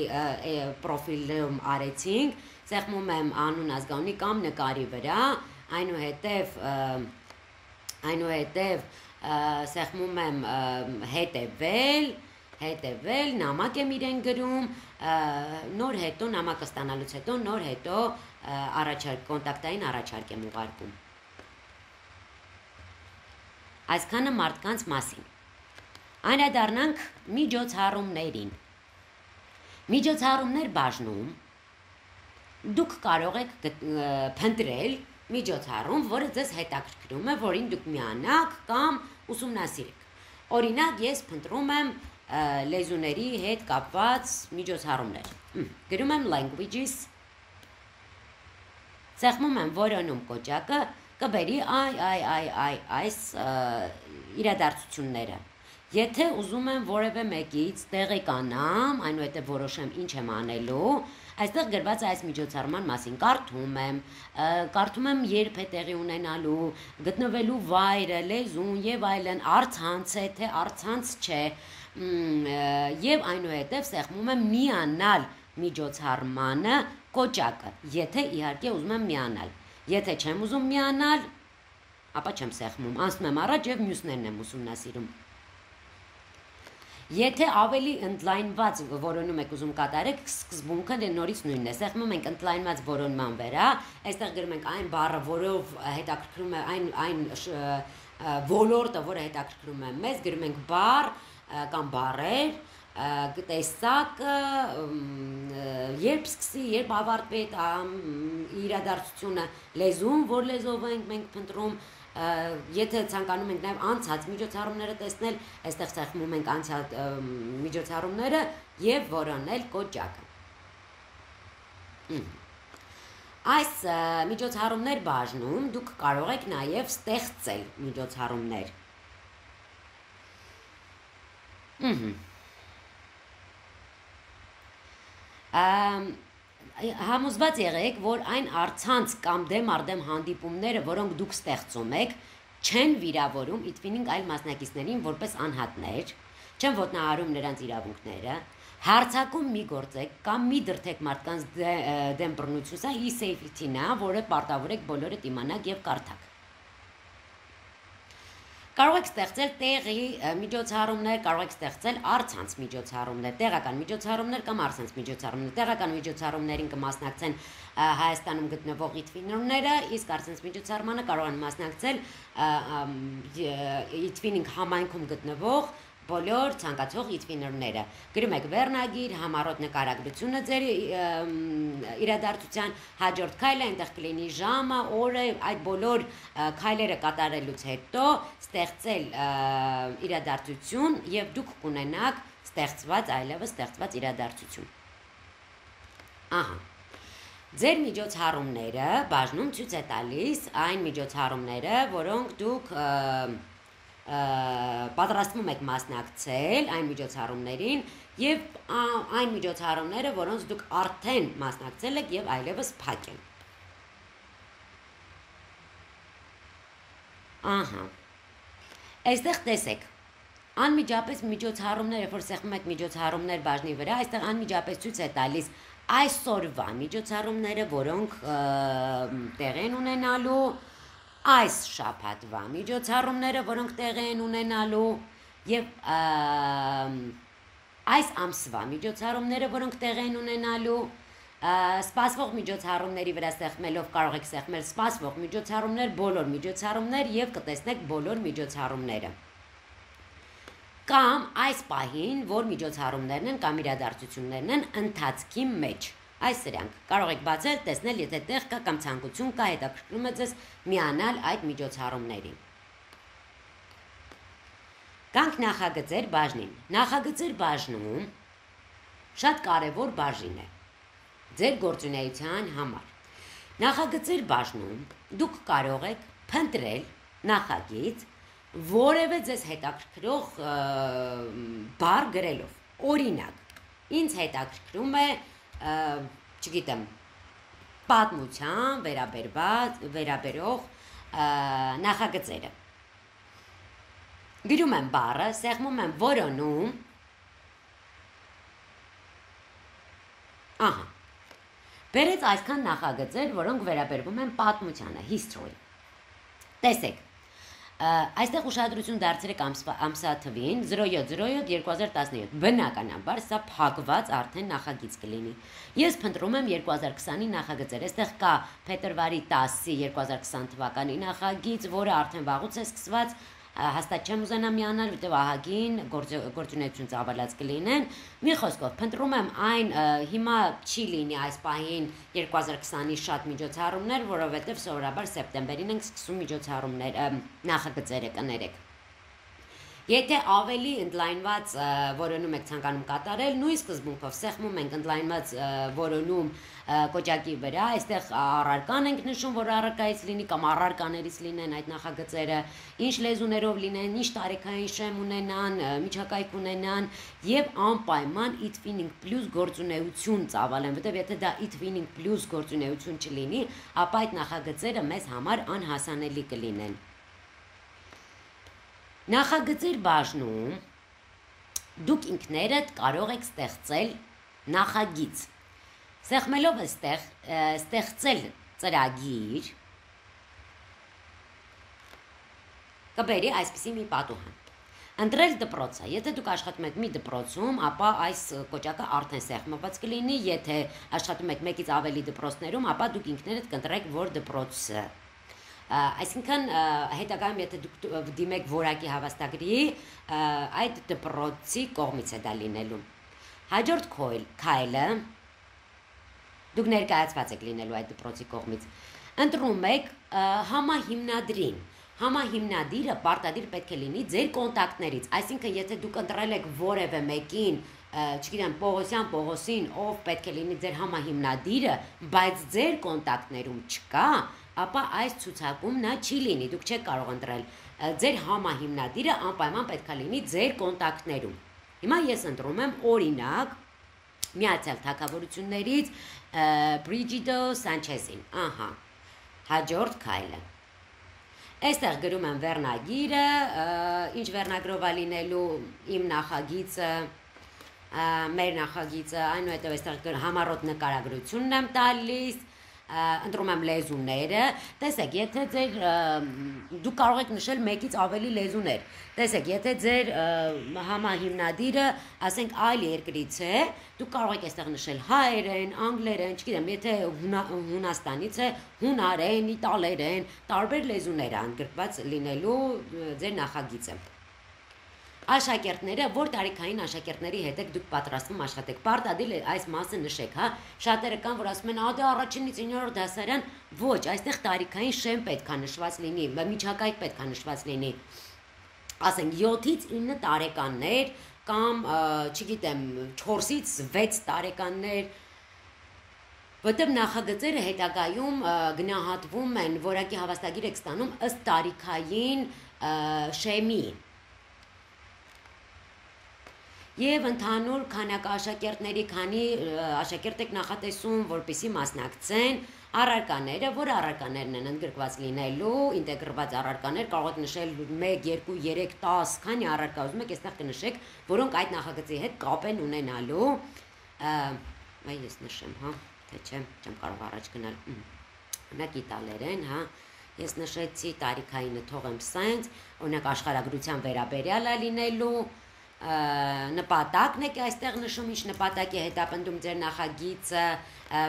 պրոֆիլում արեցինք, սեղմում եմ անուն ազգանունի կամ նկարի վրա, այնուհետև սեղմում եմ հետևել, նամակ եմ իրեն գրում, նոր հետո նամակը ստանալուց հետո նոր հետո կոնտակտային առաջարկ եմ ուղարկում։ Այսքանը մարդկանց մասին։ Անդրադառնանք միջոցառումներին։ Միջոցառումներ բաժնում դուք կարող եք փնտրել միջոցառում, որը ձեզ հետաքրքրում է, որին դուք միանաք կամ ուսումնասիրեք։ Օրինակ, ես փնտրում եմ լեզուների հետ կապված միջոցառումներ։ Գրում եմ languages, սեղմում եմ որոնում կոճակը, կբերի այս իրադարձությունները։ Եթե ուզում եմ որևէ մեկից տեղեկանամ, այնուհետև որոշեմ ինչ եմ անելու, այստեղ գրված է այս միջոցառման մասին, կարդում եմ երբ է տեղի ունենալու, գտնվելու վայրը, լեզուն եւ այլն, առցանց է, թե առցանց չէ, եւ այնուհետև սեղմում եմ միանալ միջոցառմանը կոճակը, եթե իհարկե ուզում եմ միանալ։ Եթե չեմ ուզում միանալ, ապա չեմ սեղմում, անցնում եմ առաջ եւ մյուսներն եմ ուսումնասիրում։ Եթե ավելի ընդլայնված որոնում եք ուզում կատարեք, սկզբունքը նորից նույնն է։ Սեղմում ենք ընդլայնված որոնման վրա, այստեղ գրում ենք այն բառը, որով հետաքրքրում է այն ոլորտը, որը հետաքրքրում է մեզ, գրում ենք բառ կամ բառեր, տեսակը, երբ սկսի, երբ ավարտվի իրադարձությունը, լեզուն, որ լեզվով ենք մենք փնտրում, եթե ցանկանում ենք նաև անցած միջոցառումները տեսնել, այստեղ սեղմում ենք անցած միջոցառումները եւ որոնել կոճակը։ Այս միջոցառումներ բաժնում դուք կարող եք նաև ստեղծել միջոցառումներ։ Համոզված եղեք, որ այն առցանց կամ դեմ արդեմ հանդիպումները, որոնք դուք ստեղծում եք, չեն վիրավորում Twinning այլ մասնակիցներին որպես անհատներ, չեն ոտնահարում նրանց իրավունքները, հարցակում մի գործեք կամ մի դրդեք մարդկանց դեմ բռնություն, սա e-safety-ն է, որը պարտավոր եք բոլորդ իմանաք եւ կարդաք։ Կարող եք ստեղծել տեղի միջոցառումներ, կարող եք ստեղծել առցանց միջոցառումներ, տեղական միջոցառումներ կամ առցանց միջոցառումներ։ Տեղական միջոցառումներին կմասնակցեն Հայաստանում գտնվող Twinner-ները, իսկ առցանց միջոցառմանը կարող են մասնակցել Twinning համայնքում գտնվող բոլոր ցանկացող Twinner-ները։ Գրում եք վերնագիր, համառոտ նկարագրությունը ձեր իրադարձության, հաջորդ քայլը այնտեղ կլինի ժամը, օրը, այդ բոլոր քայլերը կատարելուց հետո ստեղծել իրադարձություն եւ դուք կունենաք այլևս ստեղծված իրադարձություն։ Ահա։ Ձեր միջոցառումները բաժնում ցույց է տալիս այն միջոցառումները, որոնք դուք պատրաստվում եք մասնակցել այն միջոցառումներին եւ այն միջոցառումները, որոնց դուք արդեն մասնակցել եք եւ այլևս փակ են։ Ահա։ Այստեղ տեսեք։ Անմիջապես միջոցառումները, որ սեղմում եք միջոցառումներ բաժնի վրա, այստեղ անմիջապես ցույց է տալիս այսօրվա միջոցառումները, որոնք տեղ են ունենալու, այս շաբաթվա միջոցառումները, որոնք տեղ են ունենալու եւ այս ամսվա միջոցառումները, որոնք տեղ են ունենալու, սպասվող միջոցառումների վրա սեղմելով կարող եք սեղմել սպասվող միջոցառումներ, բոլոր միջոցառումներ եւ կտեսնեք բոլոր միջոցառումները։ Կամ այս պահին, որ միջոցառումներն են կամ իրադարձություններն են ընթացքի մեջ։ Այս սրանք կարող եք բացել, տեսնել, եթե տեղ կա կամ ցանկություն կա, հետաքրքրում է ձեզ միանալ այդ միջոցառումներին։ Կանք նախագծեր բաժնին։ Նախագծեր բաժնում շատ կարևոր բաժին է ձեր գործունեության համար։ Նախագծեր բաժնում դուք կարող եք փնտրել նախագիծ, որևէ ձեզ հետաքրքրող բառ գրելով։ Օրինակ, ինձ հետաքրքրում է, չգիտեմ, պատմության վերաբերող նախագծերը։ Գրում եմ բառը, սեղմում եմ որոնում։ Ահա։ Բերեց այսքան նախագծեր, որոնք վերաբերվում են պատմությանը, history։ Տեսեք, այստեղ ուշադրություն դարձրեք ամսաթվին 07/07/2017, բնականաբար սա փակված արդեն նախագիծ կլինի։ Ես փնտրում եմ 2020-ի նախագծեր, այստեղ կա փետրվարի 10-ի 2020 թվականի նախագիծ, որը արդեն վաղուց է սկսված, հաստատ չեմ ուզենա միանալ, որտեղ ահագին գործունեություն ծավալած կլինեն։ Մի խոսքով, փնտրում եմ այն, հիմա չի լինի այս պահին 2020-ի շատ միջոցառումներ, որովհետև սովորաբար սեպտեմբերին ենք սկսում միջոցառումներ, նախագծերը կներեք։ Եթե ավելի ընդլայնված որոնում եք ցանկանում կատարել, նույն սկզբունքով սեղմում ենք ընդլայնված որոնում կոճակի վրա, այստեղ առարկան ենք նշում, որ առարկայից լինի կամ առարկաներից լինեն այդ նախագծերը, ինչ լեզուներով լինեն, ինչ տարիքային շեմ ունենան, միջակայք ունենան եւ անպայման Itwinning Plus գործունեություն ծավալեն, որտեղ եթե դա Itwinning Plus գործունեություն չլինի, ապա այդ նախագծերը մեզ համար անհասանելի կլինեն։ Նախագծեր բաժնում դուք ինքներդ կարող եք ստեղծել նախագիծ։ Սեղմելով այստեղ ստեղծել ծրագիր կբերի այսպիսի մի պատուհան։ Ընտրել դպրոցը։ Եթե դուք աշխատում եք մի դպրոցում, ապա այս կոճակը արդեն սեղմված կլինի, եթե աշխատում եք մեկից ավելի դպրոցներում, ապա դուք ինքներդ կընտրեք որ դպրոցը։ Այսինքն հետագայում եթե դուք դիմեք որակի հավաստագրի, այդ դպրոցի կողմից է դա լինելու։ Հաջորդ քայլը դուք ներկայացված եք լինելու այդ դպրոցի կողմից։ Ընտրում եք համահիմնադրին։ Համահիմնադիրը պարտադիր պետք է լինի ձեր կոնտակտներից, այսինքն եթե դուք ընտրել եք որևէ մեկին, չգիտեմ, Պողոսին, ով պետք է լինի ձեր համահիմնադիրը, բայց ձեր կոնտակտներում չկա, ապա այս ցուցակում նա չի լինի, դուք չեք կարող ընտրել։ Ձեր համահիմնադիրը անպայման պետք է լինի ձեր կոնտակտներում։ Հիմա ես ընտրում եմ օրինակ Միացյալ Թագավորություններից Բրիջիդո Սանչեզին։ Ահա։ Հաջորդ քայլը։ Այստեղ գրում եմ վերնագիրը, ինչ վերնագրով է լինելու իմ նախագիծը, մեր նախագիծը, այնուհետև այստեղ համառոտ նկարագրությունն եմ տալիս, ընտրում եմ լեզուները, տեսեք, եթե ձեր դուք կարող եք նշել մեկից ավելի լեզուներ, տեսեք, եթե ձեր համահիմնադիրը, ասենք այլ երկրից է, դուք կարող եք այստեղ նշել հայերեն, անգլերեն, չգիտեմ, եթե Հունաստանից է, հունարեն, իտալերեն, տարբեր լեզուներ ընդգրկված լինելու ձեր նախագիծը։ Աշակերտները, որ տարիքային աշակերտների հետ եք դուք պատրաստվում աշխատեք, պարտադիր այս մասը նշեք, հա, շատերը կան, որ ասում են, դա առաջինից 9-րդ դասարան, ոչ, այստեղ տարիքային շեմ պետք է նշված լինի, միջակայք պետք է նշված լինի, ասենք 7-ից 9 տարեկաններ կամ, չգիտեմ, 4-ից 6 տարեկաններ, Որտեղ նախագծերը հետագայում գնահատվում են, որակի հավաստագիր եք ստանում ըստ տարիքային շեմի։ Եվ ընդհանուր քանակը աշակերտների, քանի աշակերտ եք նախատեսում, որպեսզի մասնակցեն, առարկաները, որ առարկաներն են ընդգրկված լինելու, ինտեգրված առարկաներ, կարող եք նշել 1, 2, 3, 10, քանի առարկա ուզում եք, այստեղ կնշեք, որոնք այդ նախագծի հետ կապ են ունենալու, այ ես նշեմ, հա, թե չէ, չեմ կարող առաջ գնալ, օրինակ իտալերեն, հա, ես նշեցի տարիքայինը թողեմ սենց, օրինակ աշխարհագրության վերաբերյալ է լինելու, նպատակն եք այստեղ նշում, ինչ նպատակ է հետապնդում ձեր նախագիծը,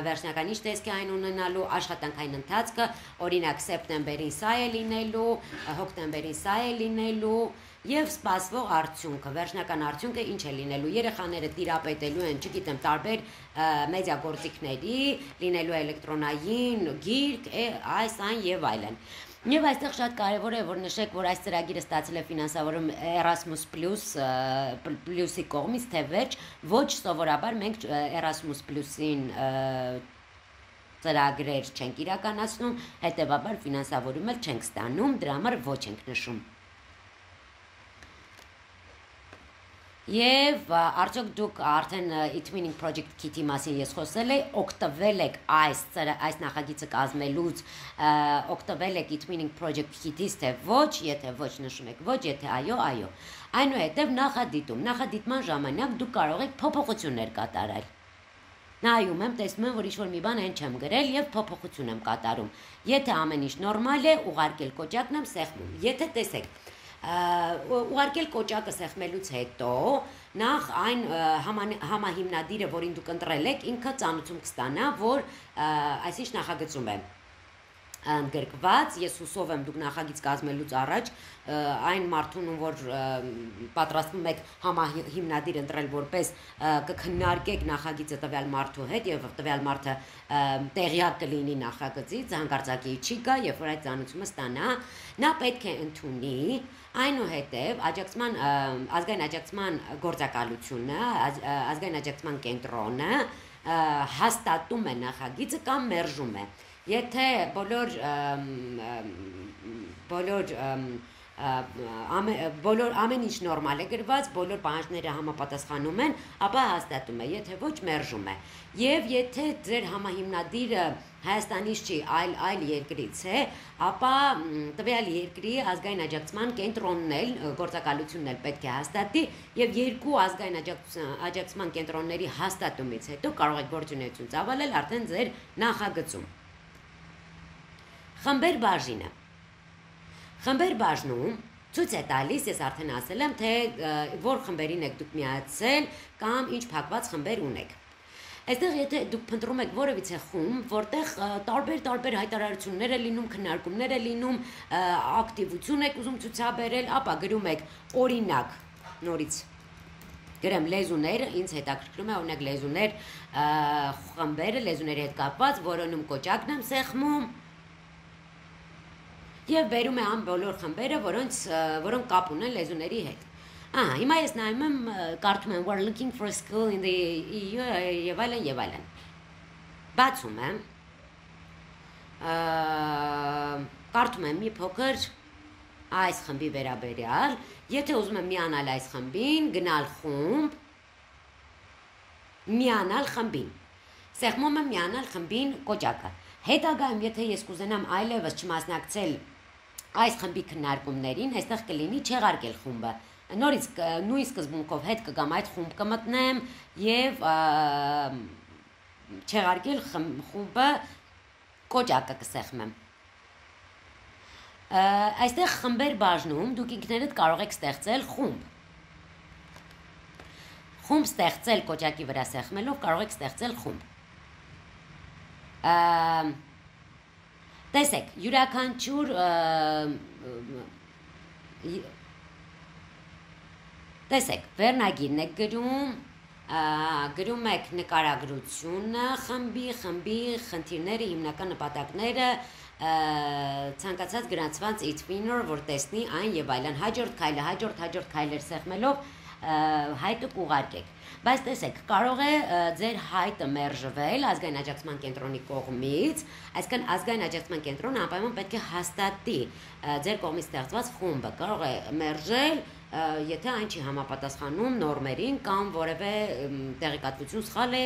վերջնական ինչ տեսք է այն ունենալու, աշխատանքային ընթացքը, օրինակ սեպտեմբերին սա է լինելու, հոկտեմբերին սա է լինելու եւ սպասվող արդյունքը, վերջնական արդյունքը ինչ է լինելու, երեխաները տիրապետելու են, չգիտեմ, տարբեր մեդիա գործիքների, լինելու էլեկտրոնային գիրք, այս այն եւ այլն։ Եվ այստեղ շատ կարևոր է, որ նշեք, որ այս ծրագիրը ստացել է ֆինանսավորում Erasmus Plus-ի կողմից, թե վերջ, ոչ սովորաբար մենք Erasmus Plus-ին ծրագրեր չենք իրականացնում, հետևաբար ֆինանսավորում էլ չենք ստանում, դրա համար ոչ ենք նշում։ Եվ արդյոք դուք արդեն e-twinning project kit-ի մասին ես խոսել եմ, օգտվել եք այս նախագիծը կազմելուց, օգտվել եք e-twinning project kit-ից, թե ոչ, եթե ոչ նշում եք ոչ, եթե այո, այո։ Այնուհետև նախադիտման ժամանակ դուք կարող եք փոփոխություններ կատարել։ Նայում եմ, տեսնում եմ, որ ինչ-որ մի բան այն չեմ գրել եւ փոփոխություն եմ կատարում։ Եթե ամեն ինչ նորմալ է, ուղարկել կոճակն եմ սեղմում։ Եթե տեսեք ուղարկել կոճակը սեղմելուց հետո նախ այն համահիմնադիրը, որին դուք ընտրել եք, ինքը ծանոթում կստանա, որ այսինչ նախագծում է ընդգրկված, ես հուսով եմ դուք նախագիծ կազմելուց առաջ այն մարդուն, որ պատրաստվում եք համահիմնադիր ընտրել որպես կքննարկեք նախագիծը տվյալ մարդու հետ եւ տվյալ մարդը տեղյակ կլինի նախագծից, հանկարծակի չի գա, երբ որ այդ ծանոթումը ստանա, նա պետք է ընդունի այնուհետև ազգային աջակցման գործակալությունը, ազգային աջակցման կենտրոնը հաստատում է նախագիծը կամ մերժում է։ Եթե ամեն ինչ նորմալ է գրված, բոլոր պահանջները համապատասխանում են, ապա հաստատում է, եթե ոչ մերժում է։ Եվ եթե ձեր համահիմնադիրը Հայաստանից չի, այլ երկրից է, ապա տվյալ երկրի ազգային աջակցման կենտրոնն էլ, գործակալությունն էլ պետք է հաստատի եւ երկու ազգային աջակցման կենտրոնների հաստատումից հետո կարող եք գործունեություն ծավալել արդեն ձեր նախագծում։ Խմբեր բաժինը։ Խմբեր բաժնում ցույց է տալիս, ես արդեն ասել եմ, թե որ խմբերին եք դուք միացել կամ ինչ փակված խմբեր ունեք։ Այստեղ եթե դուք փնտրում եք որևիցե խումբ, որտեղ տարբեր հայտարարություններ է լինում, քննարկումներ է լինում, ակտիվություն եք ուզում ցուցաբերել, ապա գրում եք օրինակ, նորից գրեմ լեզուներ, ինձ հետաքրքրում է օրինակ լեզուներ, խմբերը լեզուների հետ կապված, որոնում կոճակն եմ սեղմում եւ բերում է բոլոր խմբերը, որոնք կապ ունեն լեզուների հետ։ Հիմա ես նայում եմ, կարդում եմ we're looking for a school in the EU եւ այլն։ Բացում եմ, կարդում եմ մի փոքր այս խմբի վերաբերյալ, եթե ուզում եմ միանալ այս խմբին, գնալ խումբ, միանալ խմբին, սեղմում եմ միանալ խմբին կոճակը։ Հետագայում, եթե ես կուզենամ այլևս չմասնակցել այս խմբի քննարկումներին, այստեղ կլինի չեղարկել խումբը։ Նորից նույն սկզբունքով հետ կգամ այդ խումբ կմտնեմ եւ չեղարկել խումբը կոճակը կսեղմեմ։ Այստեղ խմբեր բաժնում դուք ինքներդ կարող եք ստեղծել խումբ։ Խումբ ստեղծել կոճակի վրա սեղմելով կարող եք ստեղծել խումբ։ Տեսեք, յուրաքանչյուր Տեսեք, վերնագիրն եք գրում եք նկարագրությունը, խմբի, խնդիրները, հիմնական նպատակները, ցանկացած գրանցված e-twinner, որ տեսնի այն եւ այլն։ Հաջորդ քայլեր սեղմելով հայտը կուղարկեք։ Բայց տեսեք, կարող է ձեր հայտը մերժվել ազգային աջակցման կենտրոնի կողմից, այսինքն ազգային աջակցման կենտրոնը անպայման պետք է հաստատի ձեր կողմից ստեղծված խումբը, կարող է մերժել, եթե այն չի համապատասխանում նորմերին կամ որևէ տեղեկատվություն սխալ է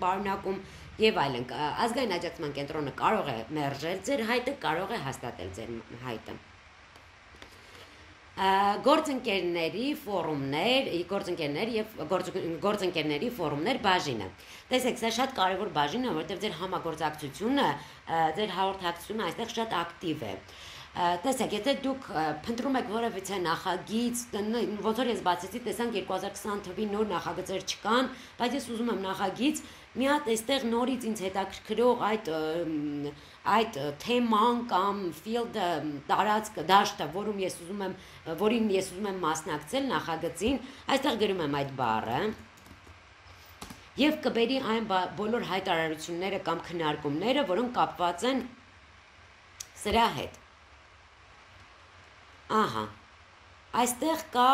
պարունակում եւ այլն։ Ազգային աջակցման կենտրոնը կարող է մերժել ձեր հայտը, կարող է հաստատել ձեր հայտը։ Գործընկերների ֆորումներ, գործընկերների ֆորումներ բաժինը։ Տեսեք, սա շատ կարևոր բաժին է, որովհետև ձեր համագործակցությունը, ձեր հաղորդակցությունը այստեղ շատ ակտիվ է։ Տեսեք, եթե դուք փնտրում եք որևիցե նախագիծ, ոնց որ ես բացեցի, տեսանք 2020 թվականի նոր նախագծեր չկան, բայց ես ուզում եմ նախագիծ, մի հատ այստեղ նորից ինձ հետաքրքրող այդ թեման կամ field-ը տարածքը դաշտը, որին ես ուզում եմ մասնակցել նախագծին, այստեղ գրում եմ այդ բառը եւ կբերի այն բոլոր հայտարարությունները կամ քննարկումները, որոնք կապված են սրա հետ։ Ահա, այստեղ կա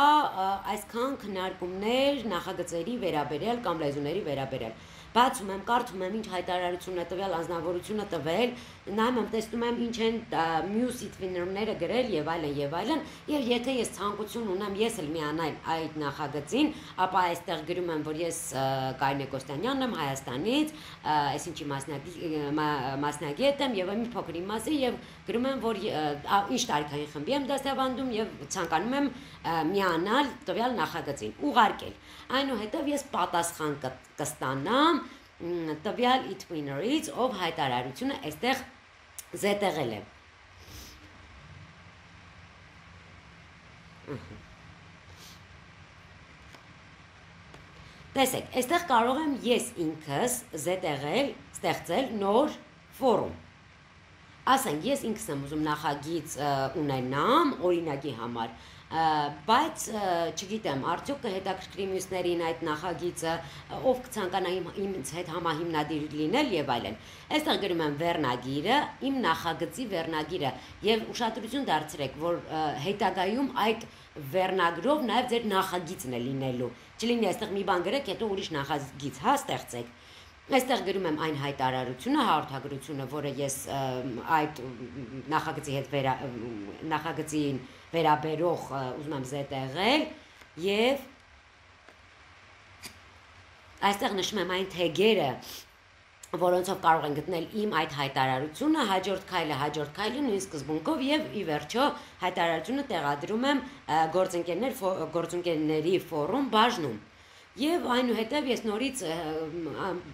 այսքան քննարկումներ նախագծերի վերաբերյալ կամ լեզուների վերաբերյալ։ Բացում եմ, կարդում եմ, ինչ հայտարարություն է տվել, անձնավորությունը տվել, նայում եմ, տեսնում եմ, ինչ են մյուս իդվիներները գրել եւ այլն, եւ եթե ես ցանկություն ունեմ ես էլ միանալ այդ նախագծին, ապա այստեղ գրում եմ, որ ես Կարինե Կոստանյանն եմ Հայաստանից, այսինչի մասնագետ եմ եւ մի փոքր իմասի եւ գրում եմ, որ ինչ տարիքային խմբի եմ դասավանդում եւ ցանկանում եմ միանալ տվյալ նախագծին, ուղարկել։ Այնուհետև ես պատասխան կստանամ տվյալ իդվիներից, ով հայտարարությունը այստեղ զետեղել է։ Տեսեք, այստեղ կարող եմ ես ինքս զետեղել, ստեղծել նոր ֆորում։ Ասենք, ես ինքս եմ ուզում նախագիծ ունենամ օրինակի համար, բայց չգիտեմ, արդյոք կհետաքրքրի մյուսներին այդ նախագիծը, ով կցանկանա ինձ հետ համահիմնադիր լինել եւ այլն։ Այստեղ գրում եմ վերնագիրը, իմ նախագծի վերնագիրը եւ ուշադրություն դարձրեք, որ հետագայում այդ վերնագրով նաեւ ձեր նախագիծն է լինելու։ Չլինի այստեղ մի բան գրեք, հետո ուրիշ նախագիծ ստեղծեք։ Այստեղ գրում եմ այն հայտարարությունը, հաղորդագրությունը, որը ես այդ նախագծի հետ նախագծին վերաբերող ուզում եմ զետեղել եւ այստեղ նշում եմ այն թեգերը, որոնցով կարող են գտնել իմ այդ հայտարարությունը, հաջորդ քայլը նույն սկզբունքով եւ ի վերջո հայտարարությունը տեղադրում եմ գործընկերների ֆորում բաժնում։ Եվ այնուհետև ես նորից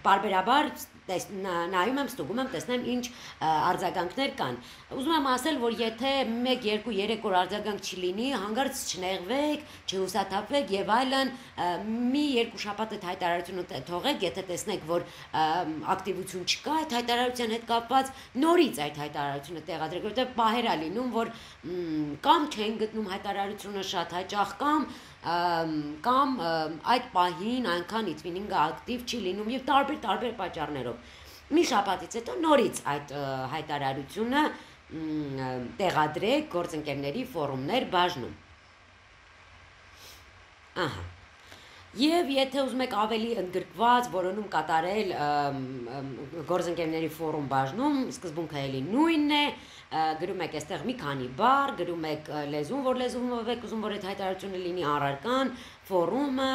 բարբերաբար նայում եմ, ստուգում եմ, տեսնեմ ինչ արձագանքներ կան։ Ուզում եմ ասել, որ եթե 1, 2, 3 օր արձագանք չլինի, հանկարծ չնեղվեք, չհուսաթափվեք եւ այլն, մի 2 շաբաթ այդ հայտարարությունը թողեք, եթե տեսնեք, որ ակտիվություն չկա այդ հայտարարության հետ կապված, նորից այդ հայտարարությունը տեղադրեք, որովհետեւ պահեր է լինում, որ կամ չեն գտնում հայտարարությունը շատ հաճախ կամ այդ պահին այնքան իդվինինգը ակտիվ չի լինում եւ տարբեր պատճառներով։ Մի շաբաթից հետո նորից այդ հայտարարությունը տեղադրեք գործընկերների ֆորումներ բաժնում։ Ահա։ Եվ եթե ուզում եք ավելի ընդգրկված որոնում կատարել գործընկերների ֆորում բաժնում, սկզբունքը էլի նույնն է, գրում եք այստեղ մի քանի բառ, գրում եք լեզուն, որ լեզուով եք ուզում, որ այդ հայտարարությունը լինի առարկան, ֆորումը,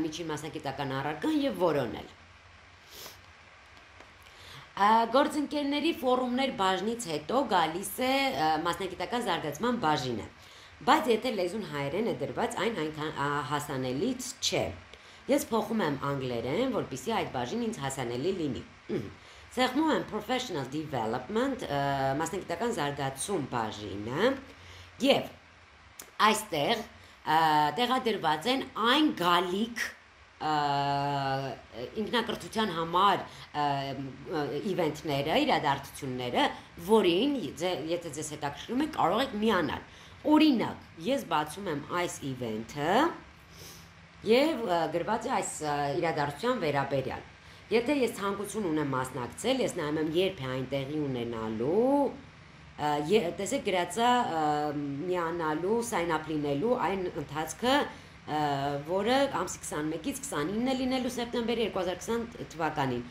միջին մասնագիտական առարկան եւ որոնել։ Գործընկերների ֆորումներ բաժնից հետո գալիս է մասնագիտական զարգացման բաժինը, բայց եթե լեզուն հայերեն է դրված, այն այնքան հասանելից չէ։ Ես փոխում եմ անգլերեն, որպեսզի այդ բաժինը ինձ հասանելի լինի։ Սեղմում եմ Professional Development, մասնագիտական զարգացում բաժինը, եւ այստեղ տեղադրված են այն գալիք ինքնակրթության համար իվենթները, իրադարձությունները, որին եթե ձեզ հետաքրքրում է, կարող եք միանալ։ Օրինակ, ես բացում եմ այս իվենթը եւ գրված է այս իրադարձության վերաբերյալ։ Եթե ես ցանկություն ունեմ մասնակցել, ես նայում եմ երբ է այն տեղի ունենալու, տեսեք գրածա միանալու, sign up լինելու այն ընթացքը որը ամսի 21-ից 29-ը լինելու սեպտեմբերի 2020 թվականին։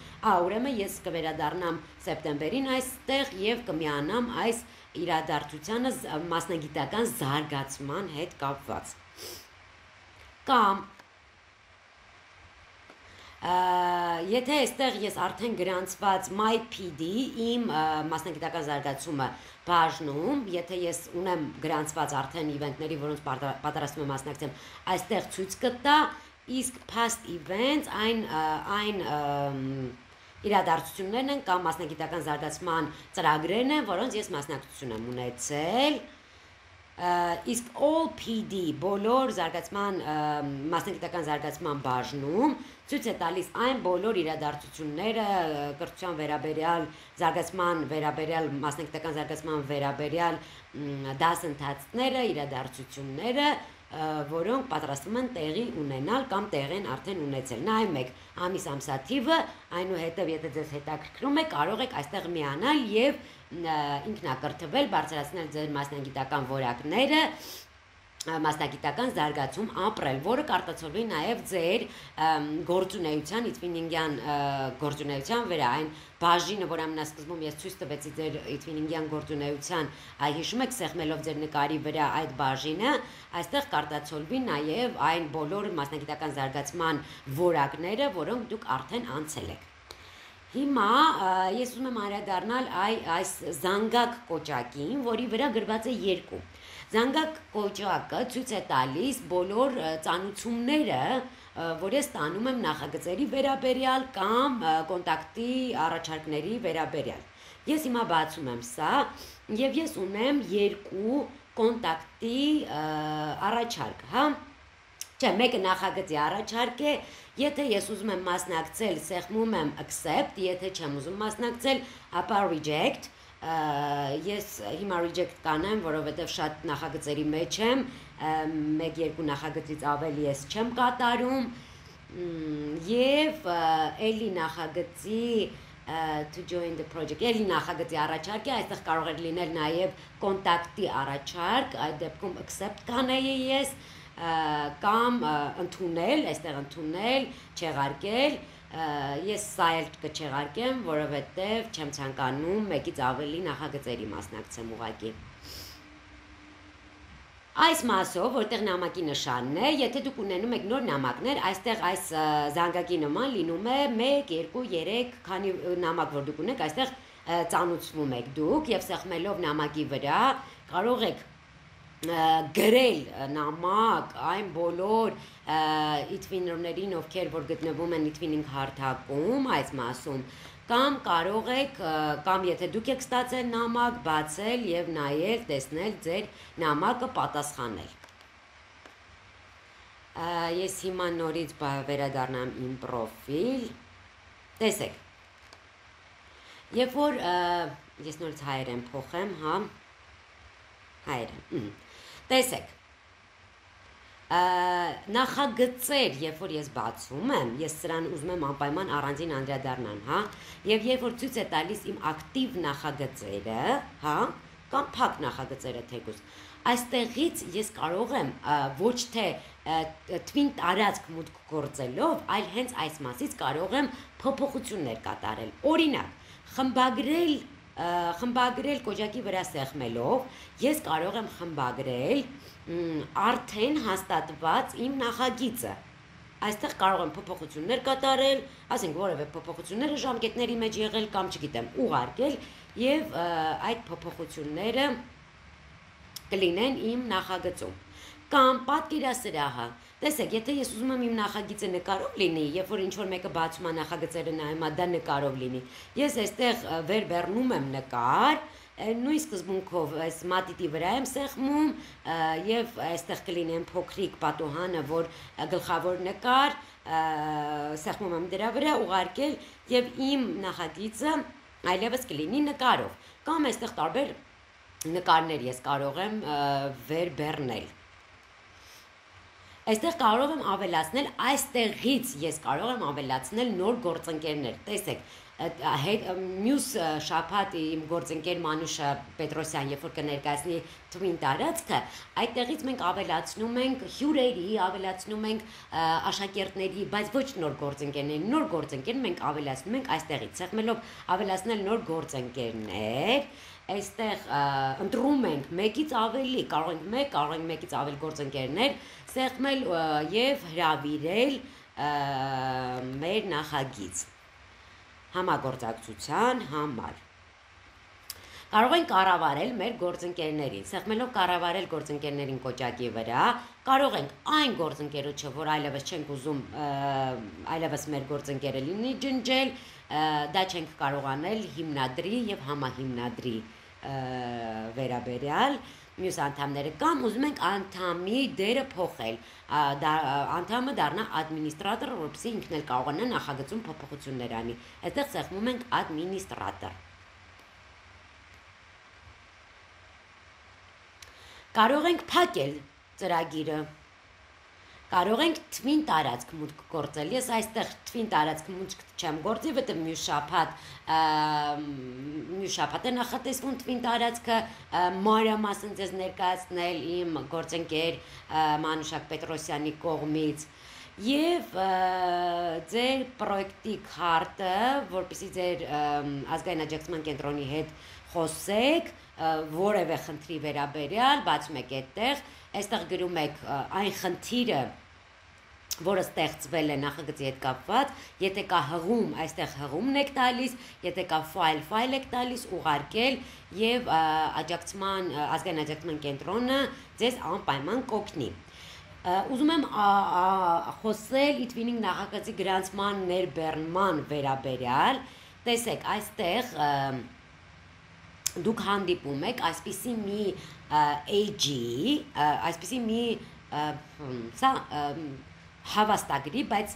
Ուրեմն ես կվերադառնամ սեպտեմբերին այստեղ եւ կմիանամ այս իրադարձությանը մասնագիտական զարգացման հետ կապված։ Կամ եթե այստեղ ես արդեն գրանցված MyPD իմ մասնագիտական զարգացումը բաժնում, եթե ես ունեմ գրանցված արդեն իվենտների, որոնց պատրաստում եմ մասնակցեմ, այստեղ ցույց կտա, իսկ past events այն իրադարձություններն են կամ մասնագիտական զարգացման ծրագրերն են, որոնց ես մասնակցություն եմ ունեցել։ Իսկ all PD բոլոր զարգացման մասնագիտական զարգացման բաժնում ցույց է տալիս այն բոլոր իրադարձությունները կրթության վերաբերյալ զարգացման վերաբերյալ մասնագիտական զարգացման վերաբերյալ դասընթացները, իրադարձությունները, որոնք պատրաստվում են տեղի ունենալ կամ տեղ են արդեն ունեցել։ Նայեք ամիս ամսաթիվը, այնուհետև եթե ձեզ հետաքրքրում է, կարող եք այստեղ միանալ եւ ինքնակրթվել, բարձրացնել ձեր մասնագիտական որակները, մասնագիտական զարգացում ապրել, որը կարտացոլվի նաև ձեր գործունեության, իթվինինգյան գործունեության վրա, այն բաժինը, որ ամենասկզբում ես ցույց տվեցի ձեր իթվինինգյան գործունեության, հիշում եք սեղմելով ձեր նկարի վրա այդ բաժինը, այստեղ կարտացոլվի նաև այն բոլոր մասնագիտական զարգացման որակները, որոնք դուք արդեն անցել եք։ Հիմա ես ուզում եմ անդրադառնալ այս զանգակ կոճակին, որի վրա գրված է 2։ Զանգակ կոճակը ցույց է տալիս բոլոր ծանուցումները, որ ես ստանում եմ նախագծերի վերաբերյալ կամ կոնտակտի առաջարկների վերաբերյալ։ Ես հիմա բացում եմ սա եւ ես ունեմ 2 կոնտակտի առաջարկ, հա։ Չէ, մեկը նախագծի առաջարկ է, եթե ես ուզում եմ մասնակցել, սեղմում եմ accept, եթե չեմ ուզում մասնակցել, ապա reject, ես հիմա reject կանեմ, որովհետև շատ նախագծերի մեջ եմ, 1-2 նախագծից ավելի ես չեմ կատարում, եւ էլի նախագծի to join the project, էլի նախագծի առաջարկ է, այստեղ կարող է լինել նաև կոնտակտի առաջարկ, այդ դեպքում accept կանեի ես, կամ ընդունել, այստեղ ընդունել, չեղարկել, ես սա էլ կչեղարկեմ, որովհետև չեմ ցանկանում մեկից ավելի նախագծերի մասնակցեմ ուղղակի։ Այս մասով, որտեղ նամակի նշանն է, եթե դուք ունենում եք նոր նամակներ, այստեղ այս զանգակի նման լինում է 1, 2, 3, քանի նամակ որ դուք ունեք, այստեղ ծանուցվում եք դուք եւ սեղմելով նամակի վրա կարող եք գրել նամակ այն բոլոր իթվիներներին, ովքեր որ գտնվում են իթվինինգ հարթակում այս մասում, կամ կարող եք, կամ եթե դուք եք ստացել նամակ, բացել եւ նայել, տեսնել ձեր նամակը պատասխանել։ Ես հիմա նորից վերադառնամ իմ պրոֆիլ։ Տեսեք։ Երբ որ ես նորից հայերեն փոխեմ, հա, հայերեն։ Տեսեք, նախագծեր, երբ որ ես բացում եմ, ես սրան ուզում եմ անպայման առանձին անդրադառնալ, հա, եւ երբ որ ցույց է տալիս իմ ակտիվ նախագծերը, հա, կամ փակ նախագծերը թեկուզ, այստեղից ես կարող եմ ոչ թե թվին տարածք մուտք գործելով, այլ հենց այս մասից կարող եմ փոփոխություններ կատարել։ Օրինակ, խմբագրել կոճակի վրա սեղմելով, ես կարող եմ խմբագրել արդեն հաստատված իմ նախագիծը։ Այստեղ կարող եմ փոփոխություններ կատարել, ասենք որևէ փոփոխությունները ժամկետների մեջ եղել կամ չգիտեմ, ուղարկել եւ այդ փոփոխությունները կլինեն իմ նախագծում։ Կամ պատկերասրահը։ Տեսեք, եթե ես ուզում եմ իմ նախագիծը նկարով լինի, երբ որ ինչ-որ մեկը բացում է նախագծերը նայում, դա նկարով լինի, ես այստեղ վերբեռնում եմ նկար, նույն սկզբունքով այս մատիտի վրա եմ սեղմում եւ այստեղ կլինի փոքրիկ պատուհանը, որ գլխավոր նկար, սեղմում եմ դրա վրա, ուղարկել եւ իմ նախագիծը այլևս կլինի նկարով։ Կամ այստեղ տարբեր նկարներ ես կարող եմ վերբեռնել։ Այստեղ կարող եմ ավելացնել, այստեղից ես կարող եմ ավելացնել նոր գործընկերներ։ Տեսեք, մյուս շաբաթ իմ գործընկեր Մանուշ Պետրոսյան, երբ որ կներկայացնի թվին տարածքը, այդտեղից մենք ավելացնում ենք հյուրերի, ավելացնում ենք աշակերտների, բայց ոչ նոր գործընկերների, նոր գործընկեր մենք ավելացնում ենք այստեղից, սեղմելով ավելացնել նոր գործընկերներ, այստեղ ընտրում ենք մեկից ավելի, կարող ենք մեկ, կարող ենք մեկից ավելի գործընկերներ, սեղմել եւ հրավիրել մեր նախագիծ համագործակցության համար։ Կարող ենք կառավարել մեր գործընկերներին, սեղմելով կառավարել գործընկերներին կոճակի վրա, կարող ենք այն գործընկերոջը, որ այլևս չենք ուզում, այլևս մեր գործընկերը լինի ջնջել, դա չենք կարող անել հիմնադրի եւ համահիմնադրի վերաբերյալ մյուս անդամները կամ ուզում ենք անդամի դերը փոխել, անդամը դառնա ադմինիստրատոր, որպեսզի ինքն էլ կարողանա նախագծում փոփոխություններ անի։ Այստեղ սեղմում ենք ադմինիստրատոր։ Կարող ենք փակել ծրագիրը, կարող ենք թվին տարածք մուտք գործել, ես այստեղ թվին տարածք մուտք չեմ գործի, որտեղ մյուս շաբաթ է նախատեսվում թվին տարածքը մանրամասն ձեզ ներկայացնել իմ գործընկեր Մանուշակ Պետրոսյանի կողմից եւ ձեր պրոյեկտի քարտը, որպեսզի ձեր ազգային աջակցման կենտրոնի հետ խոսեք, որևէ խնդրի վերաբերյալ, բացում եք այստեղ գրում եք այն խնդիրը, որը ստեղծվել է նախագծի հետ կապված, եթե կա հղում, այստեղ հղումն եք տալիս, եթե կա ֆայլ եք տալիս, ուղարկել եւ ազգային աջակցման կենտրոնը ձեզ անպայման կօգնի։ Ուզում եմ խոսել Itwinning նախագծի գրանցման ներբեռնման վերաբերյալ, տեսեք, այստեղ դուք հանդիպում եք այսպիսի մի AG-ի, այսպիսի մի հավաստագրի, բայց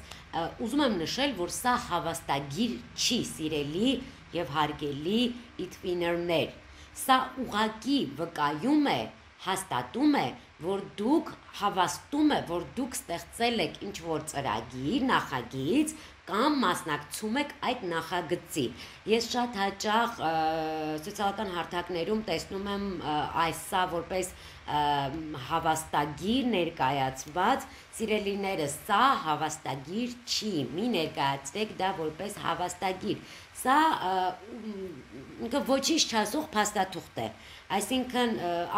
ուզում եմ նշել, որ սա հավաստագիր չի, սիրելի եւ հարգելի Itwinner-ներ, սա ուղղակի վկայում է, հաստատում է, որ դուք հավաստում է, որ դուք ստեղծել եք ինչ-որ ծրագիր, նախագիծ կամ մասնակցում եք այդ նախագծի։ Ես շատ հաճախ սոցիալական հարթակներում տեսնում եմ սա որպես հավաստագիր ներկայացված, սիրելիներս, սա հավաստագիր չի, մի ներկայացրեք դա որպես հավաստագիր, սա ոչինչ չասող փաստաթուղթ է, այսինքն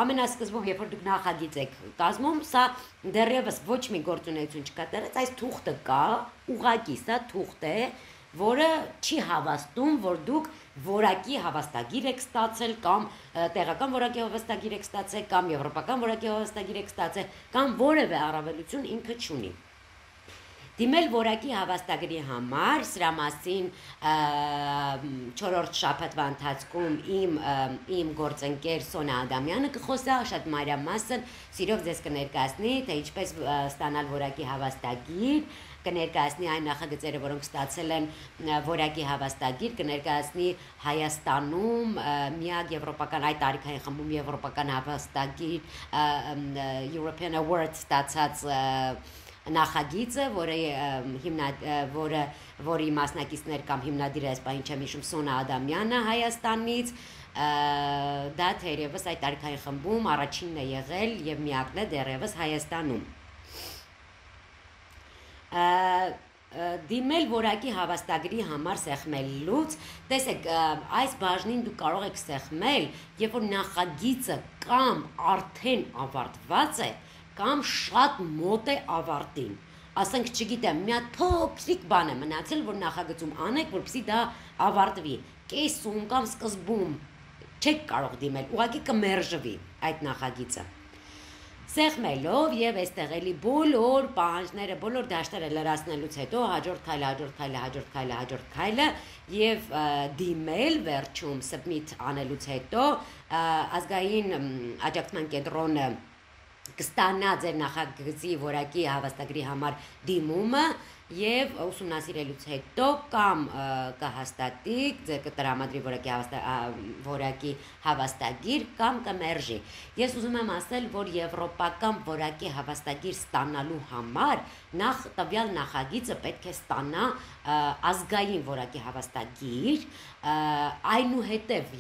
ամենասկզբում, երբ որ դուք նախագիծ եք կազմում, սա դեռևս ոչ մի գործունեություն չկատարեց, այս թուղթը կա, ուղղակի սա թուղթ է, որը չի հավաստում, որ դուք որակի հավաստագիր եք ստացել կամ տեղական որակի հավաստագիր եք ստացել կամ եվրոպական որակի հավաստագիր եք ստացել կամ որևէ առավելություն ինքը չունի։ Դիմել որակի հավաստագրի համար, սրա մասին 4-րդ շաբաթվա ընթացքում իմ գործընկեր Սոնա Ադամյանը կխոսա, շատ մանրամասն սիրով ձեզ կներկայացնի, թե ինչպես ստանալ որակի հավաստագիր, կներկայացնի այն նախագծերը, որոնք ստացել են որակի հավաստագիր, կներկայացնի Հայաստանում միակ եվրոպական այդ տարիքային խմբում եվրոպական հավաստագիր European Award ստացած նախագիծը, որի մասնակիցներ կամ հիմնադիրը այս պահին չեմ հիշում Սոնա Ադամյանը Հայաստանից, դա թերևս այդ տարիքային խմբում առաջինն է եղել եւ միակն է դեռևս Հայաստանում։ Դիմել որակի հավաստագրի համար սեղմելուց, տեսեք, այս բաժնին դուք կարող եք սեղմել, երբ որ նախագիծը կամ արդեն ավարտված է, կամ շատ մոտ է ավարտին, ասենք չգիտեմ, մի հատ փոքրիկ բան է մնացել, որ նախագծում անեք, որպեսզի դա ավարտվի, կեսում կամ սկզբում չեք կարող դիմել, ուղղակի կմերժվի այդ նախագիծը։ Սեղմելով եւ այստեղ էլի բոլոր պահանջները, բոլոր դաշտերը լրացնելուց հետո հաջորդ քայլը եւ դիմել վերջում submit անելուց հետո ազգային աջակցման կենտրոնը կստանա ձեր նախագծի որակի հավաստագրի համար դիմումը եւ ուսումնասիրելուց հետո կամ կհաստատի ձեր կտրամադրի որակի հավաստագիր կամ կմերժի։ Ես ուզում եմ ասել, որ եվրոպական որակի հավաստագիր ստանալու համար նախ տվյալ նախագիծը պետք է ստանա ազգային որակի հավաստագիր, այնուհետև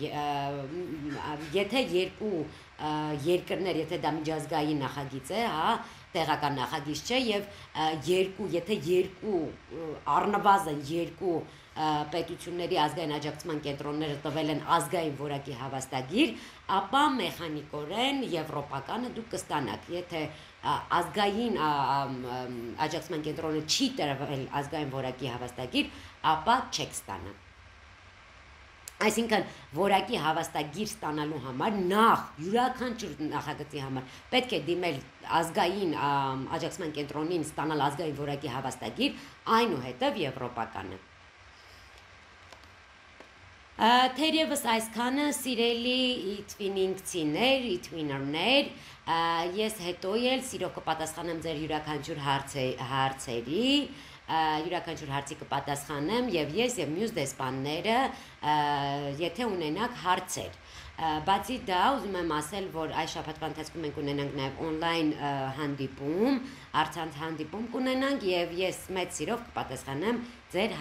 եթե երկու երկրներ, եթե դա միջազգային նախագիծ է, հա, տեղական նախագիծ չէ եւ եթե երկու առնվազն երկու պետությունների ազգային աջակցման կենտրոնները տվել են ազգային որակի հավաստագիր, ապա մեխանիկորեն եվրոպականը դուք կստանաք, եթե ազգային աջակցման կենտրոնը չի տրվել ազգային որակի հավաստագիր, ապա չեք ստանա։ Այսինքն որակի հավաստագիր ստանալու համար նախ յուրաքանչյուր նախագծի համար պետք է դիմել ազգային աջակցման կենտրոնին ստանալ ազգային որակի հավաստագիր, այնուհետև եվրոպականը։ Թերևս այսքանը սիրելի իթվինինգցիներ, իթվիներներ, ես հետո էլ սիրով կպատասխանեմ ձեր յուրաքանչյուր հարցերի, յուրաքանչյուր հարցի կպատասխանեմ եւ ես եւ մյուս դեսպանները, եթե ունենաք հարցեր։ Բացի դա ուզում եմ ասել, որ այս շաբաթվա ընթացքում մենք ունենանք նաեւ on-line հանդիպում, առցանց հանդիպում կունենանք եւ ես մեծ սիրով կպատասխանեմ ձեր